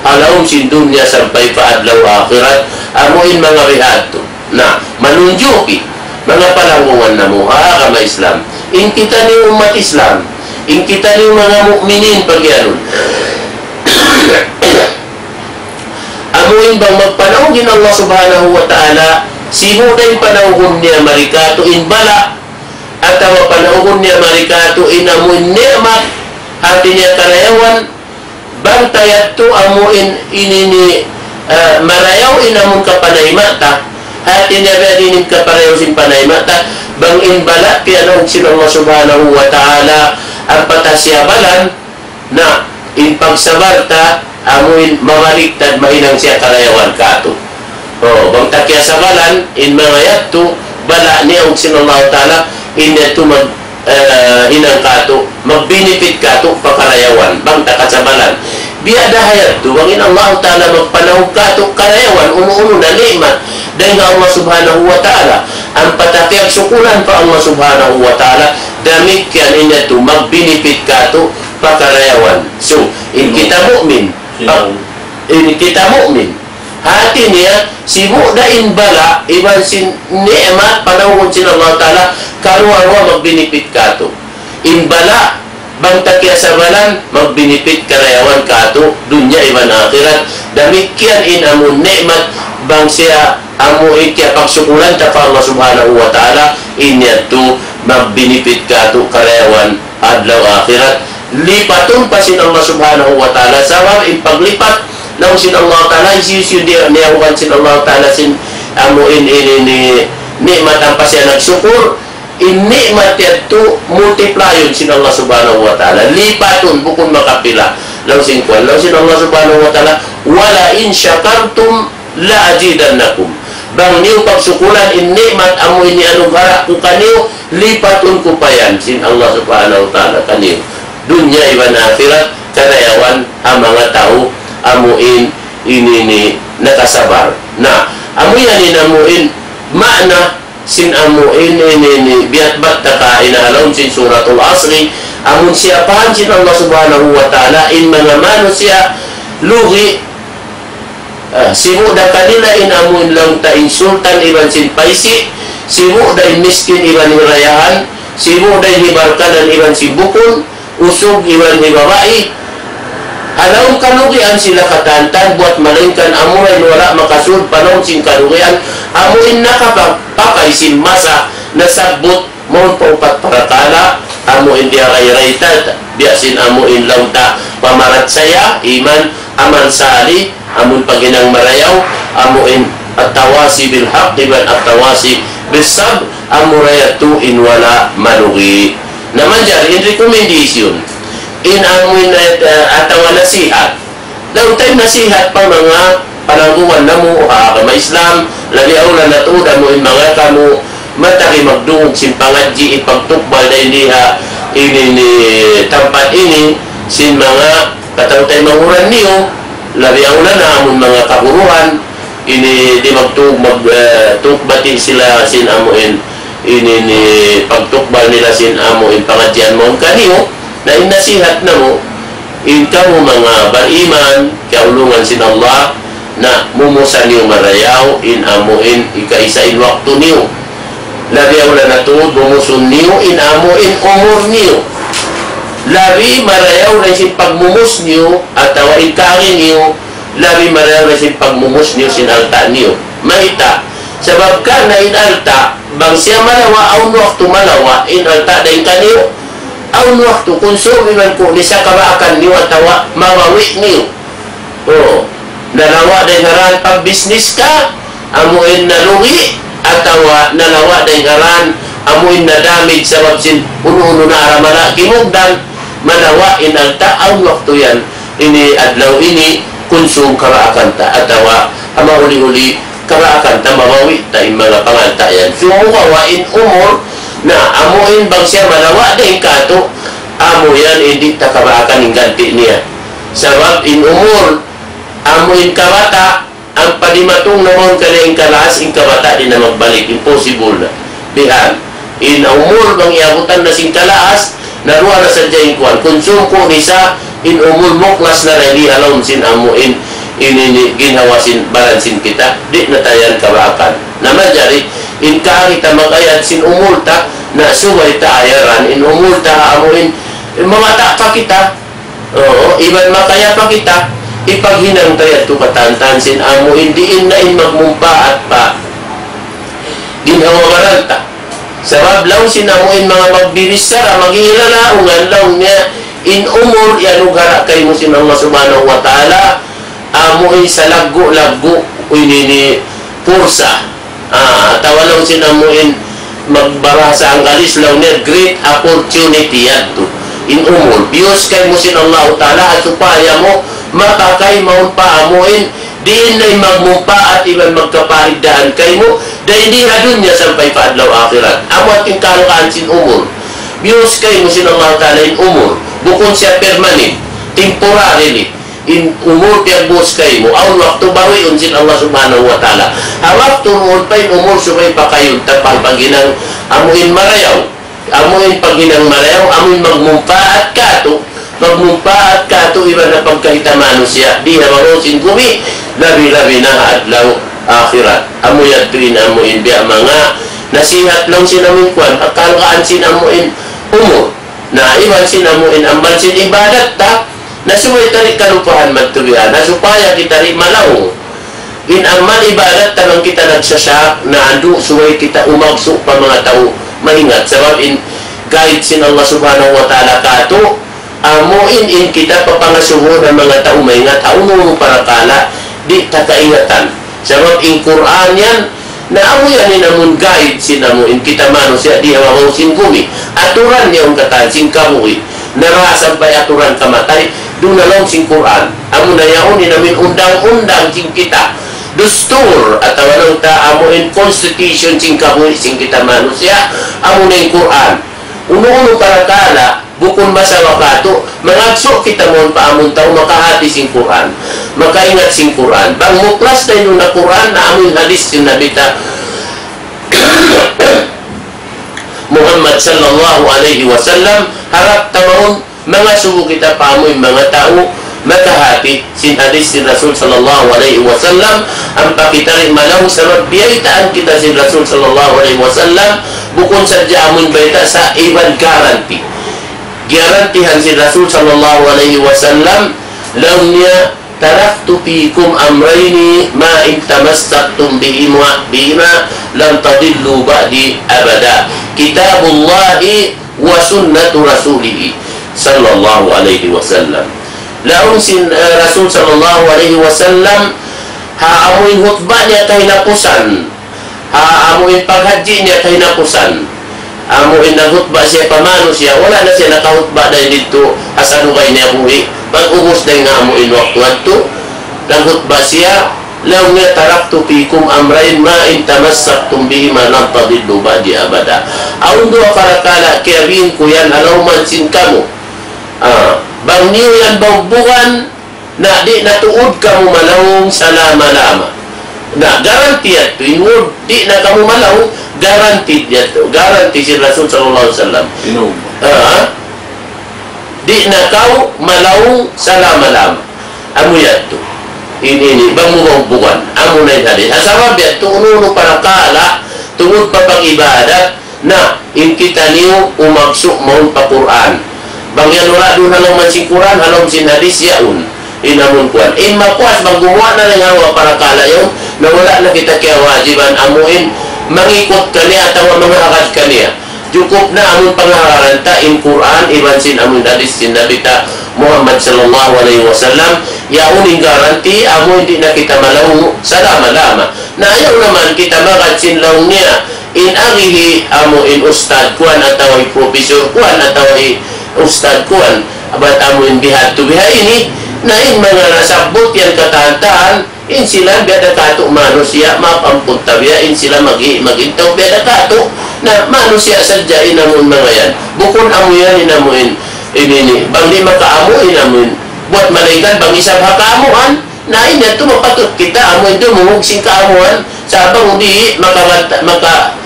ha lawm sin dunya sampay pa adlaw akhirat, amu in manga bihadtu. Na, manunjuki, manga palanggungan namu' ha agama Islam. In kitaniyu ummat Islam, in kitaniyu manga mu'minin pagiyanun. Amu in bang magpanaug in Allah Subhanahu wa Ta'ala, sibu' da in panaugun niya mari katu' in bala', atawa panaugun niya mari katu' in amu in ni'mat, hati niya karayawan, bang ta yadtu amu in ini ni, ah, marayaw in amun kapanayma' ta, hati niya biya' diin in kaparayaw sin panayma' ta, bang in bala' piyanaug sin Allah Subhanahu wa Ta'ala, ampa ta siya balan, na, in pagsabar ta, amu in mabaliktad mahinang siya karayawan katu'. O, bang ta kiyasabalan, in manga yadtu, bala' niyaug sin Allah Ta'ala, in yadtu mag, eh, hinang katu', mag-benefit katu', pa karayawan, bang ta kasabalan. Biya' da ha yadtu, bang in Allah Ta'ala magpanaug katu', karayawan, unu-unu na ni'mat, dayn ha Allah Subhanahu wa Ta'ala. Ampa ta kiyagsukulan pa Allah Subhanahu wa Ta'ala, damikkiyan in yadtu, mag-benefit katu', pa karayawan. So, in kita mu'min, pa, in kita mu'min, hati niya, sibu' da in bala', iban sin ni'mat, panaugun sin Allah Ta'ala, karuwa-ruwa mag-benefit katu'. In bala', bang ta kiyasabalan, mag-benefit karayawan katu', dunya iban akhirat. Damikkiyan in amun ni'mat, bang siya amu in kiyapagsukulan ta pa Allah Subhanahu wa Ta'ala, in yadtu mag-benefit katu' karayawan adlaw akhirat. Lipatun pa sin Allah Subhanahu wa Ta'ala, sabab in paglipat, laung sin Allah Ta'ala, hisiyu-siyu di' niyaugan sin Allah Ta'ala sin amu in, in, in, in ni'mat ampa siya nagsukur, in ni'mat yadtu multiplyun sin Allah Subhanahu wa Ta'ala. Lipatun bukun makapila. Laung sin kuwan, laung sin Allah Subhanahu wa Ta'ala, ولئن شكرتم لأزيدنكم. Bang niyu pagsukulan in ni'mat amu in iyanugara' ku kaniyu, lipatun ku pa yan sin Allah Subhanahu wa Ta'ala kaniyu. Dunya iban akhirat, karayawan ha manga tau amu in ini ni nakasabar. Na, amu yan in amu in maana sin amu in ini ni biyatbat ta kaina ha lawm sin Suratul Asri, amun siyapahan sin Allah Subhanahu wa Ta'ala in manga manusiya' lugi', ah, sibu' da kanila in amu in laung ta in sultan iban sin paisi', sibu' da in miskin iban hirayahan, sibu' da in hibarkanan iban sin bukun, usug iban hi babai. Ha lawm kalugian sila katan-katan buwat malaingkan amura in wala' makasud pa lawm sin kalugian, amu in nakapagpakay sin masa nasabbut mawn pa upat parakala', amu in biya' ray-ray ta, biya' sin amu in laung ta pamarachaya, iman, amal salih, amun paghinang marayaw, amu in التواصي بالحق iban التواصي بالصبر, amura yadtu in wala' malugi. Na manjari in recommendation, in amu in, eh, atawa nasihat. Laung ta in nasihat pa manga panangguan namu' ha agama Islam, labi awla na tuud amu in manga kamu matagi magdungug sin pangadji' ipagtukbal dayn di ha ini ni tampat ini, sin manga kataw-taymanghuran niyu, labi awla na amun manga kaguruhan, ini di' magtu-, mag-, eh, tugbati sila sin amu in, ini ni pagtukbal nila sin amu in pangadjian mawn kaniyu, na in nasihat namu', in kamu manga bariman, kiyaulungan sin Allah, na mumusa niyu marayaw, in amu in ikaisa in waktu niyu. Labi awla na tuud, mumusun niyu in amu in umur niyu. Labi marayaw dayn sin pagmumus niyu, atawa in kari niyu, labi marayaw dayn sin pagmumus niyu sin alta' niyu. Mayta'? Sabab karna' in alta', bang siya malawa', awn waktu malawa', in alta' dayn kaniyu. Awn waktu, kunsum iban ku, ni sa kabaakan niyu atawa mabawi' niyu. O, nalawa' dayn ha dān pagbisnis ka, amu in nalugi atawa nalawa' dayn ha dān, amu in na-damage sabab sin unu-unu na aramala kimugdan, manawa' in alta' awn waktu yan, ini adlaw ini, kunsum karaakan ta, atawa ha mahuli-huli karaakan ta mabawi' ta in manga pangalta' yan. Sumagawa' in umur, na amu in bang siya manawa' dayn kātu', amu yan in di' ta karaakan in ganti' niya. Sabab in umur, amu in kabata', ampa dimatung na mawn kaniya in kalaas, in kabata' di' na magbalik, impossible na. Bihan. In umur bang iyabutan na sin kalaas, naruwa na sadja in kuwan. Kunsum ku nisa, in umur muklas na rin di' ha lawm sin amu in, in, in, ginhawa sin baran sin kita, di' na ta yan karaakan. Na manjari, in kaagi ta mag-ayad sin umur ta, na subay ta ayaran, in umur ta amu in, in mabata' pa kita, Oo, iban makaya pa kita, ipaghinang ta yadtu katantan sin amu in diin na in magmumpaat pa ginhawa-baran ta. Sabab laung sin amu in manga magbibichara, maghihilaung laung niya, in umur iyanugara' kaymu sin Allah Subhanahu wa Ta'ala, amu in salaggu'-laggu' ini ni pursa. Ah, atawa laung sin amu in magbahasa Anggalis laung niya great opportunity yadtu. In umur, biyus kaymu sin Allahu Ta'ala, ha supaya mu mapakay mawn pa amu in diin na in magmumpaat iban magkapariddahan kaymu, dayn di ha dunya sampay pa adlaw akhirat. Amu in kalukaan sin umur. Biyus kaymu sin Allahu Ta'ala in umur. Bukun siya permanent, temporarily. In umur piyagbuhus kaymu, awn waktu bawiun sin Allah Subhanahu wa Ta'ala. Ha waktu duun pa in umur subay pakayun ta pa paghinang amu in marayaw. Amu in paghinang marayaw, amu in magmumpaat kātu'. Magmumpaat kātu' iban ha pagkahi ta manusiya'. Di ha babaw sin gumi, labi-labi na ha adlaw akhirat. Amu yadtu in amu in biya' manga nasihat laung sin amu in kuwan, ha kalukaan sin amu in umur. Na iban sin amu in amal sin ibadat ta, na subay ta di' kalupahan magtubihan, na supaya kita di' malaung. In amal ibadat ta bang kita nagsasyak, na andu' subay kita umagsu' pa manga tau maingat. Sabab in guide sin Allah Subhanahu wa Ta'ala kātu', amu in, in kita papangasubu na manga tau maingat, ha unu-unu parakala', di' ta kaingatan. Sabab in Qur'an yan, na amu yan in amun guide sin amu in kita manusiya' di ha babaw sin gumi. Aturan niya in katan sin kabuhi'. Na ra sampay aturan kamatay, duun na laung sin Qur'an. Amu na yaun in amun undang-undang sin kita. Dustur, atawa laung ta amu in constitution sin kabuhi' sin kita manusiya', amu na in Qur'an. Unu-unu parakala', bukun masawa kātu', mangagsu' kita mawn pa amun tau makahati sin Qur'an, makaingat sin Qur'an. Bang muklas ta in Qur'an, na amun hadis sin Nabi ta Muhammad sallallahu alayhi wasallam, harap ta mawn, mangasubu kita pa amun manga tau, makahati sin hadis sin Rasul sallallahu alayhi wasallam, ampa kita di' malaung sabab biyaytaan kita sin Rasul sallallahu alayhi wasallam, bukun sadja amun bayta' sa' iban guarantee. Giyarantihan sin Rasul sallallahu alayhi wasallam, laung niya, تركت فيكم أمرين ما إن تمسكتم بهما، بهما لن تضلوا بعدي أبدا. كتاب الله وسنة رسوله صلى الله عليه وسلم. Laung sin, eh, Rasul sallallahu alayhi wasallam, ha amu in hutba niya kahinapusan, ha amu in paghajji niya kahinapusan. Amu in naghutba siya pa manusiya', wala' na siya nakahutba dayn didtu ha salugay niya buhi'. Pag-ubus dayn ha amu in waktu yadtu, naghutba siya, laung niya, تركت فيكم أمرين ما إن تمسكتم بهما لن تضلوا بعدي أبدا. Awn duwa parakala' kiyabin ku yan ha lawm sin kamu. Ah, bang niyu yan baugbugan, na di' na tuud kamu malaung salama-lama. Na guarantee yadtu, in word, di' na kamu malaung, guarantee yadtu, guarantee sin Rasul sallallahu alayhi wasallam. Inu? Ha? Di' na kaw malaung salama-lama. Amu yadtu. Ini, ini, bang mu baugbugan. Amu na in hadis. Ha sabab yadtu, unu-unu parakala', tungud pa pag-ibadat, na, in kitaniyu umagsu' mawn pa Qur'an. Bang yan wala' duun ha lawm sin Qur'an, ha lawm sin hadis yaun. In amun kuwan. In mapuas bang gumuwa' na dayn ha duwa parakala' yaun, na wala' na kita kiyawajiban amu in mangikut kaniya atawa mangahagad kaniya. Jukup na amun pangahagaran ta in Qur'an, iban sin amun hadis sin Nabi ta Muhammad sallallahu alayhi wasallam, yaun in guarantee, amu in di' na kita malaung salama-lama. Na ayaw naman kita magad sin laung niya, in agihi amu in ustad kuan atawa hi professor kuan atawa hi ustad kuan, bat amu in bihadtu biha ini, na in manga nasabbut yan katan-katan, in sila biya' da katu' manusiya', mapampun ta biya', in sila magi-, magintug biya' da katu', na manusiya' sadja in amu in manga yan. Bukun amu yan in amu in, in ini, bang di' makaamu in amu in, buwat malayngkan bang isab ha kaamuhan, na in yadtu mapatut kita amu in dumungug sin kaamuhan, sa' bang di' maka, maka,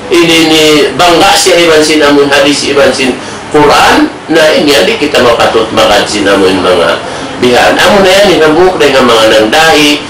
ini ini bangga siya iban sin amu in hadis iban sin Qur'an, na in yan di' kita mapatut magad sin amu in manga bihan. Amu na yan in hambuuk dayn ha manga nangdahi,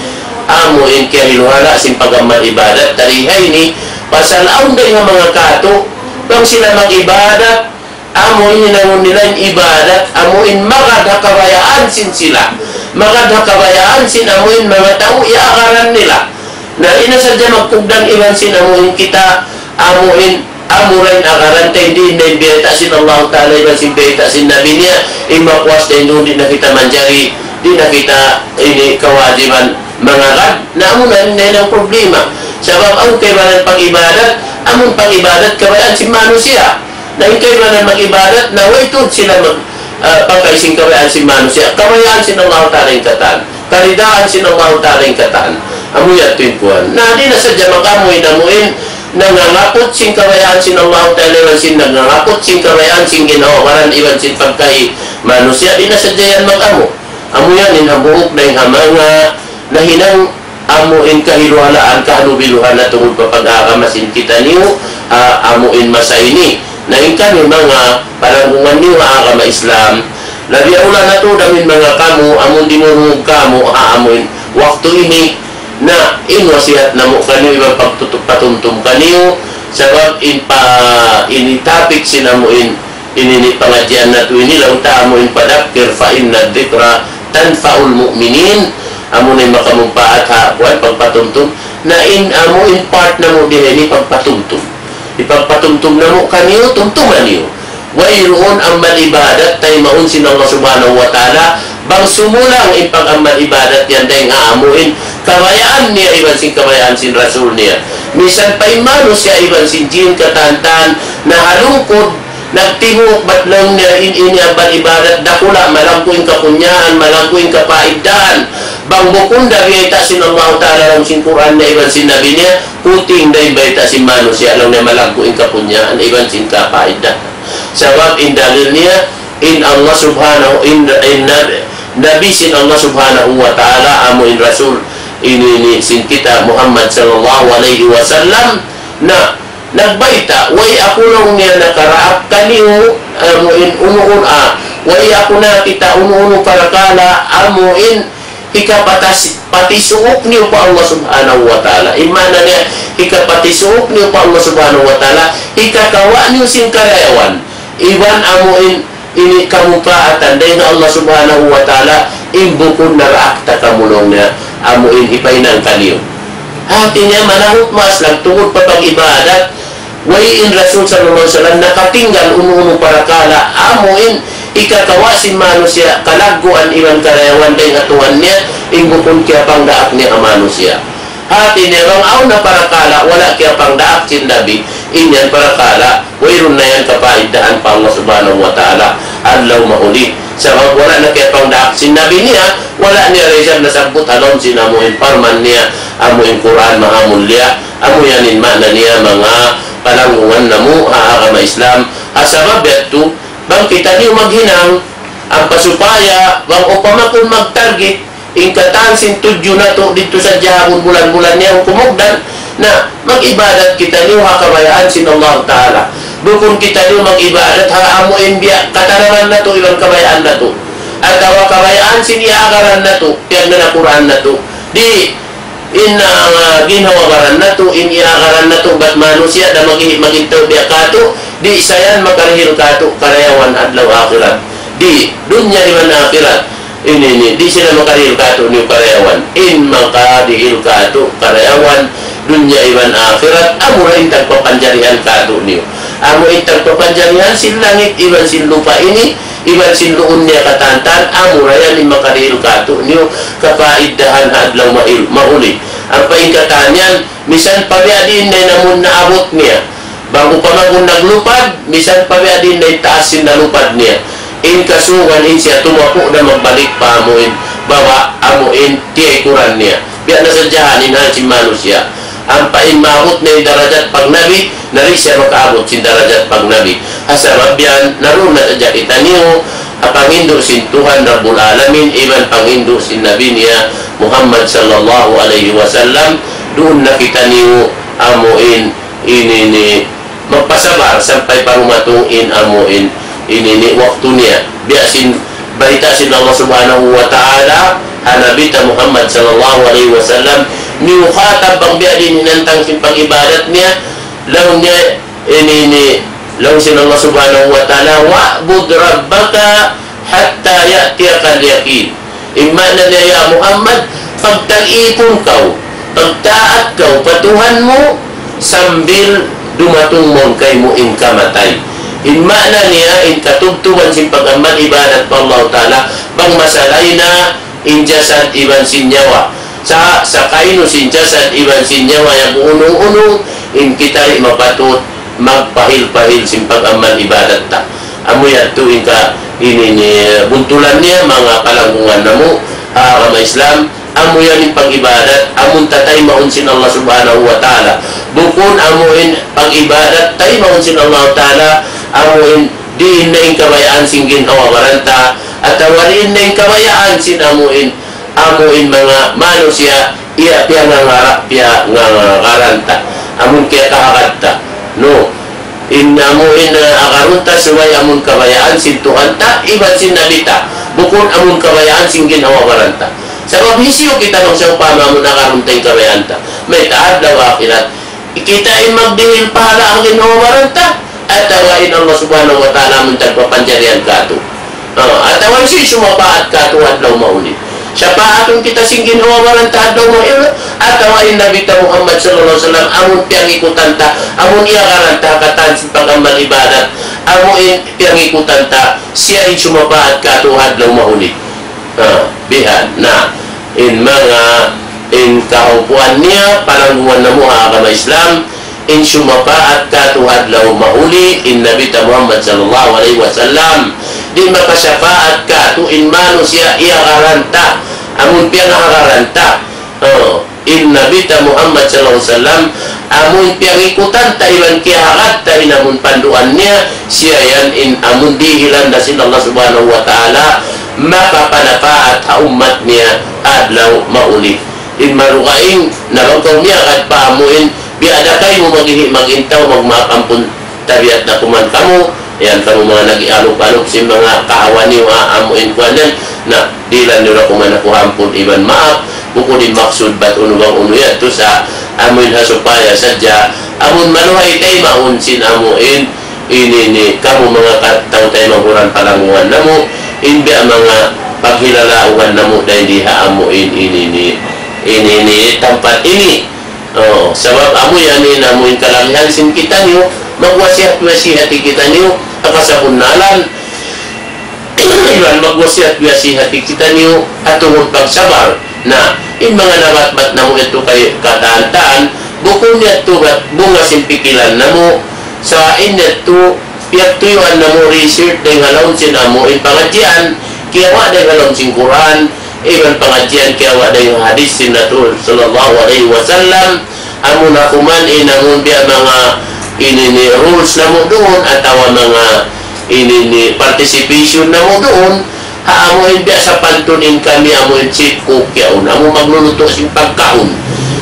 amu in kiyahiluhala' sin pag-amal ibadat, tari ha ini, pasal awn dayn ha manga katu', bang sila mag-ibadat, amu in hinangun nila in ibadat, amu in magad ha kabayaan sin sila. Magad ha kabayaan sin amu in manga tau iyaagaran nila. Na di' na sadja magkugdan iban sin amu in kita, amu in, amu ra in agaran ta, di' na in biyayta' sin Allah Ta'ala iban sin biyayta' sin Nabi niya, in mapuas dayn duun di' na kita manjari, di' na kita ini kawajiban mangagad. Na amu na in, na in problema. Sabab awn kaibanan pag-ibadat, amun pag-ibadat kabayaan sin manusiya'. Na in kaibanan mag-ibadat, na way tuud sila mag-, ah, pagkay sin kabayaan sin manusiya'. Kabayaan sin Allah Ta'ala in katan. Karidaan sin Allah Ta'ala in katan. Amu yadtu in kuwan. Na di' na sadja mag-amu in amu in nangangaput sin kabayaan sin Allah Ta'ala iban sin nangangaput sin kabayaan sin ginhawa-baran iban sin pagkay manusiya'. Di' na sadja yan mag-amu. Amu yan in hambuuk dayn ha manga nahinang amu in kahiluhalaan, kahalubiluhan na tungud pa pag-agama sin kitaniyu, ah, amu in masa ini. Na in kami manga palanggungan niyu ha agama Islam, labi awla na tuud amu in manga kamu, amu in dimungug kamu, ha amu in waktu ini, na in wasihat namu' kaniyu iban pagtutup patumtum kaniyu, sabab in pa, ini topic sin amu in ini ini pangadjian natu' ini, laung ta amu in فذكر فإن الذكرى تنفع المؤمنين. Amu na in makamumpaat ha, kuwan, pagpatumtum. Na in amu in part namu' di ha ini pagpatumtum. Ipagpatumtum namu' kaniyu, tumtuma niyu. Wayruun amal ibadat taymaun sin Allah Subhanahu wa Ta'ala, bang sumulang in pag-amal ibadat yan dayn ha amu in kabayaan niya iban sin kabayaan sin Rasul niya. Misan pa in manusiya' iban sin jin katan-katan nahalungkud, nagtibuuk bat laung niya in ini amal ibadat dakula', malaggu' in kapunyaan, malaggu' in kapaiddahan. Bang bukun da biyayta' sin Allah Ta'ala laung sin Qur'an niya iban sin Nabi niya, puting da in bayta' sin manusiya' laung niya malaggu' in kapunyaan iban sin kapaiddahan. Sabab in dalil niya, in Allah Subhanahu, in, in Nabi, Nabi sin Allah Subhanahu wa Ta'ala, amu in Rasul, ini, ini sin kita Muhammad sallallahu alayhi wasallam, na nagbayta', way aku laung niya nakaraak kaniyu, amu in unu-unu, ah, way aku nakakita' unu-unu parakala', amu in hikapatas-, patisuuk niyu pa Allah Subhanahu wa Ta'ala. In maana niya, hikapatisuuk niyu pa Allah Subhanahu wa Ta'ala, hikakawa' niyu sin karayawan. Iban amu in ini kamumpaatan dayn ha Allah Subhanahu wa Ta'ala, in bukun naraak ta kamu laung niya, amu in hipahinang kaniyu. Hati niya manahut maas lang tungud pa pag-ibadat, way in Rasul sallallahu alayhi wasallam nakatinggal unu-unu parakala', amu in hikakawa' sin manusiya' kalagguan iban karayawan dayn ha Tuhan niya, in bukun kiyapangdaak niya ha manusiya'. Hati niya bang awn na parakala', wala' kiyapangdaak sin Nabi, in yan parakala', wayruun na yan kapaiddahan pa Allah Subhanahu wa Ta'ala, adlaw mahuli. Sabab wala' na kiyapangdaak sin Nabi niya, wala' niya rizal nasabbut ha lawm sin amu in parman niya, amu in Qur'an maha mulia, amu yan in maana niya manga palanggungan namu' ha agama Islam. Ha sabab yadtu, bang kitaniyu maghinang, ampa supaya, bang upama kun magtarget, in katan sin tudju natu' didtu sadja ha bulan-bulan niya kumugdan, na mag-ibadat kitaniyu ha kabayaan sin Allah Ta'ala. Bukun kitaniyu mag-ibadat ha amu in biya' katanaman natu' iban kabayaan natu'. Atawa kabayaan sin iyaagaran natu', tiyan na Qur'an natu'. Di' in, ah, ginhawa-baran natu', in iyaagaran natu', bat manusiya' da magi-, magintug biya' katu', di' sa yan makarihil katu' karayawan adlaw akhirat. Di' dunya iban akhirat. Ini, ini, di' sila makarihil katu' niyu karayawan. In makarihil katu' karayawan, dunya iban akhirat, amu ra in tagpapanjarihan katu' niyu. Amu in tagpapanjarihan sin langit iban sin lupa' ini, iban sin luun niya katan-katan, amura yan in makarihil kātu'niyu kapaidahan ha adlaw mail-, mahuli. Ampa in katan yan, misan pa biya' diin na in amun naabut niya. Bang upama kunu' naglupad, misan pa biya' diin na in taas sin nalupad niya. In kasugan in siya tumapu' na magbalik pa amuin baba', amuin tiyaykuran niya. Biya' na sadja in hal sin manusiya'. Ampa in maabut na in darajat pagnabi, na di' siya makaabut sin darajat pagnabi. Ha sabab yan, naruun na sadja kitaniyu, ha panghindu' sin Tuhan Rabbul Alamin, iban panghindu' sin Nabi niya Muhammad sallallahu alayhi wasallam, duun na kitaniyu amuin ini ini magpasabar sampay pa dumatung in amuin ini ini waktu niya. Biya' sin bayta' sin Allah Subhanahu wa Ta'ala ha Nabi ta Muhammad sallallahu alayhi wasallam, miyukhatab bang biya' diin hinantang sin pag-ibadat niya, laung niya ini ini, laung sin Allah Subhanahu wa Ta'ala, "Wa'bud rabbaka hatta ya'tiyakal yaqin." In maana niya, ya Muhammad, pagtag-ipun kaw, pagtaat kaw pa Tuhan mu sambil dumatung mawn kaymu in kamatay. In maana niya, in katubtuban sin pag-amal ibadat pa Allah Ta'ala, bang masalay na in jasad iban sin nyawa. Sa, sa kaynu sin jasad iban sin nyawa yan unung-unung, in kita di' mapatut magpahil-pahil sin pag-amal ibadat ta. Amu yadtu in ka ini ini buntulan niya, manga palanggungan namu' ha agama Islam, amu yan in pag-ibadat, amun tataymaun sin Allah Subhanahu wa Ta'ala. Bukun amu in pag-ibadat, taymaun sin Allah Ta'ala, amu in diin na in kabayaan sin ginhawa-baran ta, atawa diin na in kabayaan sin amu in, amu in manga manusiya', iya piyangangara', piyangangara' ta, amun kiyakahagad ta. No. In amu in, ah, agarun ta subay amun kabayaan sin Tuhan ta, iban sin Nabi ta. Bukun amun kabayaan sin ginhawa-baran ta. Sabab hisiyu kita bang sawpama amun agarun ta in kabayaan ta. Mayta' adlaw akhirat. Kita in magdihil pahala' ha ginhawa-baran ta, atawa in Allah Subhanahu wa Ta'ala amun tagpapanjarihan kātu'. Ah, atawa in siya sumapaat kātu' adlaw mahuli. Sapaatun kita sin ginhawa-baran ta adlaw mahuli, atawa in Nabi ta Muhammad sallallahu alayhi wasallam, amun piyangikutan ta, amun iyagaran ta katan sin pag-amal ibadat, amun piyangikutan ta, siya in sumapaat kātu' adlaw mahuli. Ah, bihan. Na, in manga, in kahaupuan niya, palanggungan namu' ha agama Islam, in sumapaat kātu' adlaw mahuli, in Nabi ta Muhammad sallallahu alayhi wasallam. Di' makasapaat kātu' in manusiya' iyagaran ta, amun piyangahagaran ta. Oh, in Nabi ta Muhammad sallallahu alayhi wasallam, amun piyangikutan ta iban kiyahagad ta in amun panduan niya, siya yan in amun dihilan da sin Allah Subhanahu wa Ta'ala, makapanapaat ha ummat niya adlaw mahuli. In marugaing, na bang kaw miyagad pa amuin, biya' da kaymu maghihi' magintaw, magmaap ampun tabiat na kuman kamu, yan kamu manga nag-ialup-alup sin manga kahawa niyu ha amuin kuwan yan, na dihilan niyu da kuman aku ampun iban maap, bukun in maksud bat unu bang unu yadtu sa amuin ha supaya sadja, amun maluhay taymaun sin amuin, ini ini, kamu manga ka-, tau taymanghud palanggungan namu', in biya' manga paghilalaungan namu' dayn di ha amuin ini ini, ini ini, tampat ini. Oh, sabab amu yan in amuin kalagihan sin kitaniyu, magwasiyat-wasiyat kitaniyu, ha kasabunnalan, iban magwasiyat-wasiyat kitaniyu, ha tungud pagsabar. Na, in manga nabatbat namu' yadtu kay katantan, bukun yadtu bat bunga sin pikilan namu', sa in yadtu, piyagtuyuan namu' research dayn ha lawm sin amuin pangadjian, kiyawa' dayn ha lawm sin Qur'an, iban pangadjian kiyawa' dayn ha hadith sin Rasul sallallahu alayhi wasallam, amun aku man in amun biya' manga ini ini rules namu' duun, atawa manga ini ini participation namu' duun, ha amuin biya' sapantun in kami amuin chef cook yaun, amu maglulutu' sin pagkaun.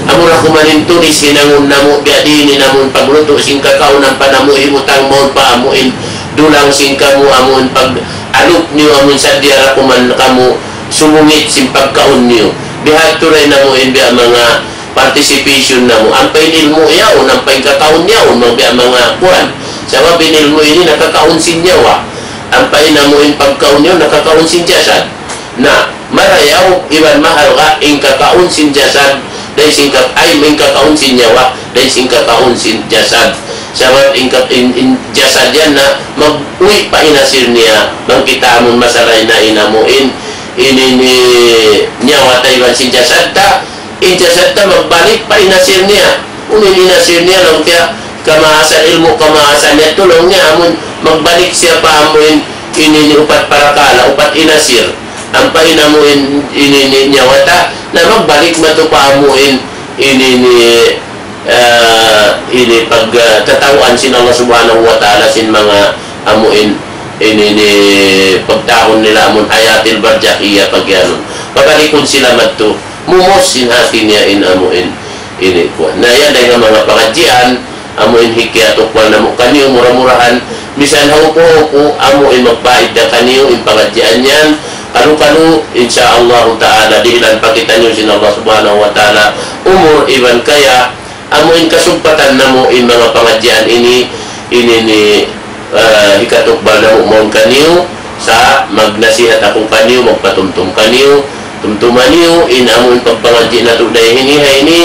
Amu ra kuman in tulis hinangun namu' biya' diin in amun paglutu' sin kakaun ampa namu' hibutang mawn pa amuin dulang sin kamu, amuin pag-alup niyu, amuin sadja ra kuman kamu sumungit sin pagkaun niyu. Bihadtu ra in amuin biya' manga participation namu'. Ampa in ilmu' yaun, ampa in kakaun yaun, magbiya' manga kuwan. Sabab in ilmu' ini nakakaun sin nyawa. Ampa in amuin pagkaun yaun, nakakaun sin jasad. Na, marayaw iban mahalga' in kakaun sin jasad, dayn sin ka-, ay, in kakaun sin nyawa, dayn sin kakaun sin jasad. Sabab in, in, in jasad yan na mag-uwi' pa in asir niya, bang kita amun masalah na in amuin, ini ni nyawa ta iban sin jasad ta, in jasad ta magbalik pa in asir niya. Unu in asir niya, laung niya, kamaasan ilmu', kamaasan niya, laung niya, amun magbalik siya pa amuin, ini ni upat parakala', upat in asir. Ampa in amuin, ini ni nyawa ta, na magbalik matu pa amuin, ini ni ah, ini pag, ah, tatawaan sin Allah Subhanahu wa Ta'ala sin manga amuin, ini ni pagtawagun nila amun hayatil barzakhiyah pagyanun. Pabalikun sila madtu, mumus sin hati niya in amuin, ini kuwan. Na yan dayn ha manga pangadjian, amuin hikiyatukbal namu' kaniyu mura-murahan, misan haupu-haupu, amuin magpaid da kaniyu in pangadjian yan, kalu-kalu, insya Allah Ta'ala, dihilan pa kitaniyu sin Allah Subhanahu wa Ta'ala, umur iban kaya, amuin kasugpatan namu' in manga pangadjian ini, ini ni, ah, hikatukbal namu' mawn kaniyu, sa' magnasihat aku kaniyu, magpatumtum kaniyu, tumtuma niyu, in amuin pagpangadji' natu' dayn ha ini, ha ini,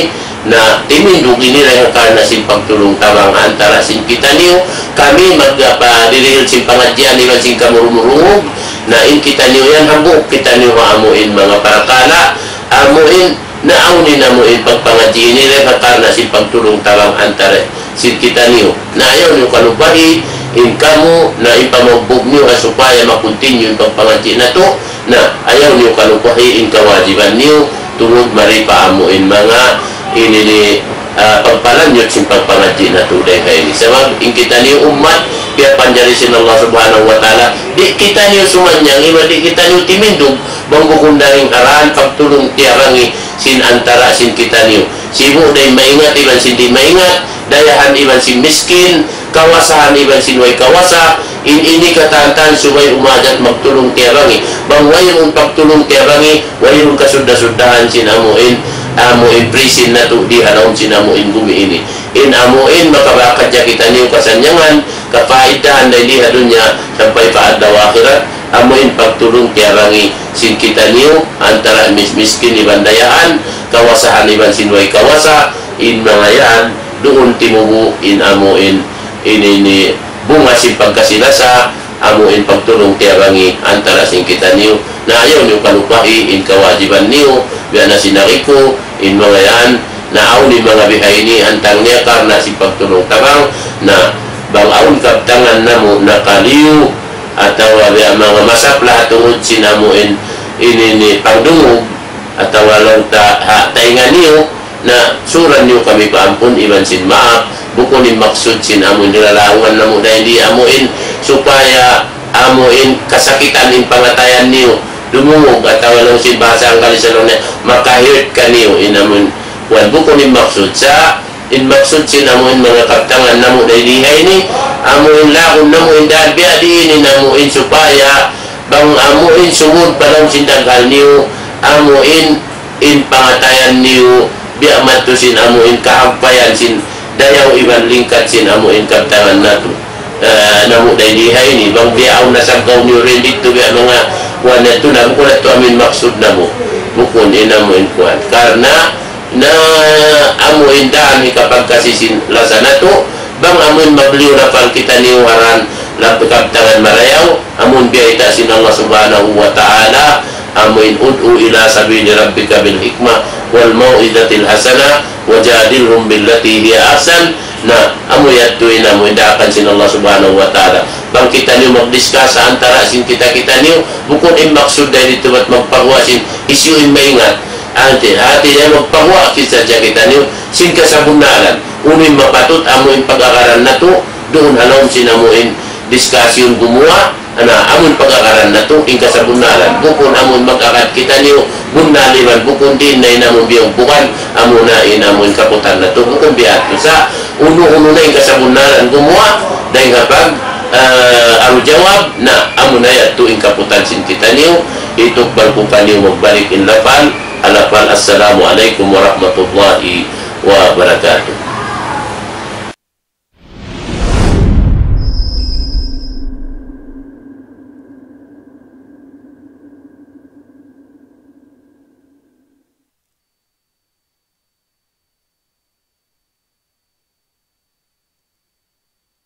na timindug ini dayn ha karna' sin pagtulung-tabang antara sin kitaniyu, kami magpadirihil sin pangadjian iban sin kamurumurungug, na in kitaniyu yan hambuuk kitaniyu ha amuin manga parakala', amuin na awn in amuin pagpangadji' ini dayn ha karna' sin pagtulung-tabang antara sin kitaniyu. Na ayaw niyu kalupahi in kamu, na in pamaugbug niyu ha supaya ma-continue in pagpangadji' natu', na ayaw niyu kalupahi in kawajiban niyu, tungud mari pa amuin manga ini ni, ah, pagpalanjut sin pagpangadji' natu' dayn ha ini. Sabab in kitaniyu ummat, piyapanjari sin Allah Subhanahu wa Ta'ala, di' kitaniyu sumanyang, iban di' kitaniyu timindug, bang bukun dayn ha dān pagtulung-tiyabangi sin antara sin kitaniyu. Sibu' da in maingat iban sin di' maingat, dayahan iban sin miskin, kawasahan iban sin way kawasa, in ini katantan subay umajat magtulung-tiyabangi. Bang wayruun pagtulung-tiyabangi, wayruun kasudda-suddahan sin amuin, amuin prisin natu' di ha lawm sin amuin gumi ini. In amuin makabakadja kitaniyu kasannyangan, kapaidahan dayn di ha dunya sampay pa adlaw akhirat, amuin pagtulung-tiyabangi sin kitaniyu antara mis-, miskin iban dayahan, kawasahan iban sin way kawasa, in manga yan, duun timubu' in amuin, ini ni bunga sin pagkasi-lasa, amuin pagtulung-tiyabangi antara sin kitaniyu. Na ayaw niyu kalupahi in kawajiban niyu, biya' na sin agi ku, in manga yan, na awn in manga bihaini, hantang niya karna' sin pagtulung-tabang, na bang awn kabtangan namu' nakaliyu, atawa biya' manga masapla tungud sin amuin, ini ni pangdungug, atawa laung ta ha taynga niyu, na suran niyu kami pa ampun iban sin maap, bukun in maksud sin amuin nilalaungan namu' dayn di amuin, supaya amuin kasakitan in pangatayan niyu, dumungug atawa laung sin bahasa Anggalis laung niya, maka-hurt kaniyu in amuin, kuwan bukun in maksud sa, in maksud sin amuin manga kabtangan namu' dayn di ha ini, amuin laung namu' in dān biya' diin in amuin supaya bang amuin sumud pa lawm sin daghal niyu, amuin in pangatayan niyu, biya' madtu sin amuin kahagpayan sin dayaw iban lingkat sin amuin kabtangan natu'. Ah, namu' dayn di ha ini, bang biya' awn nasaggaw niyu dayn didtu biya' manga kuwan natu' na, bukun natu' amuin maksud namu'. Bukun in amuin kuwan. Karna' na amuin dān hikapagkasi sin lasa natu', bang amuin mabliyu lapal kitaniyu ha dān lap-, kabtangan marayaw, amuin biyayta' sin Allah Subhanahu wa Ta'ala, amuin ادع إلى سبيل ربك بالحكمة والموعظة الحسنة وجادلهم بالتي هي أحسن. Na, amu yadtu in amuin daakan sin Allah Subhanahu wa Ta'ala. Bang kitaniyu magdiskas antara sin kita-kitaniyu, bukun in maksud dayn didtu bat magpaguwa' sin hisiyu in maingat. Hati, hati niya magpaguwa' kita sadja kitaniyu sin kasabunnalan. Unu in mapatut amuin pag-agaran natu', duun ha lawm sin amuin discussion gumuwa', na amuin pag-agaran natu', in kasabunnalan. Bukun amuin mag-agad kitaniyu, bunnal iban bukun diin na in amuin biyugbukan, amuna in amuin kaputan natu', bukun biya' hādtu sa, unu-unu na in kasabunnalan gumuwa', dayn ha pag, ah, aru jawab, na amuna yadtu in kaputan sin kitaniyu, hitukbal ku kaniyu magbalik in lapal, ha lapal, Assalamu alaykum warahmatullahi wabarakatuh.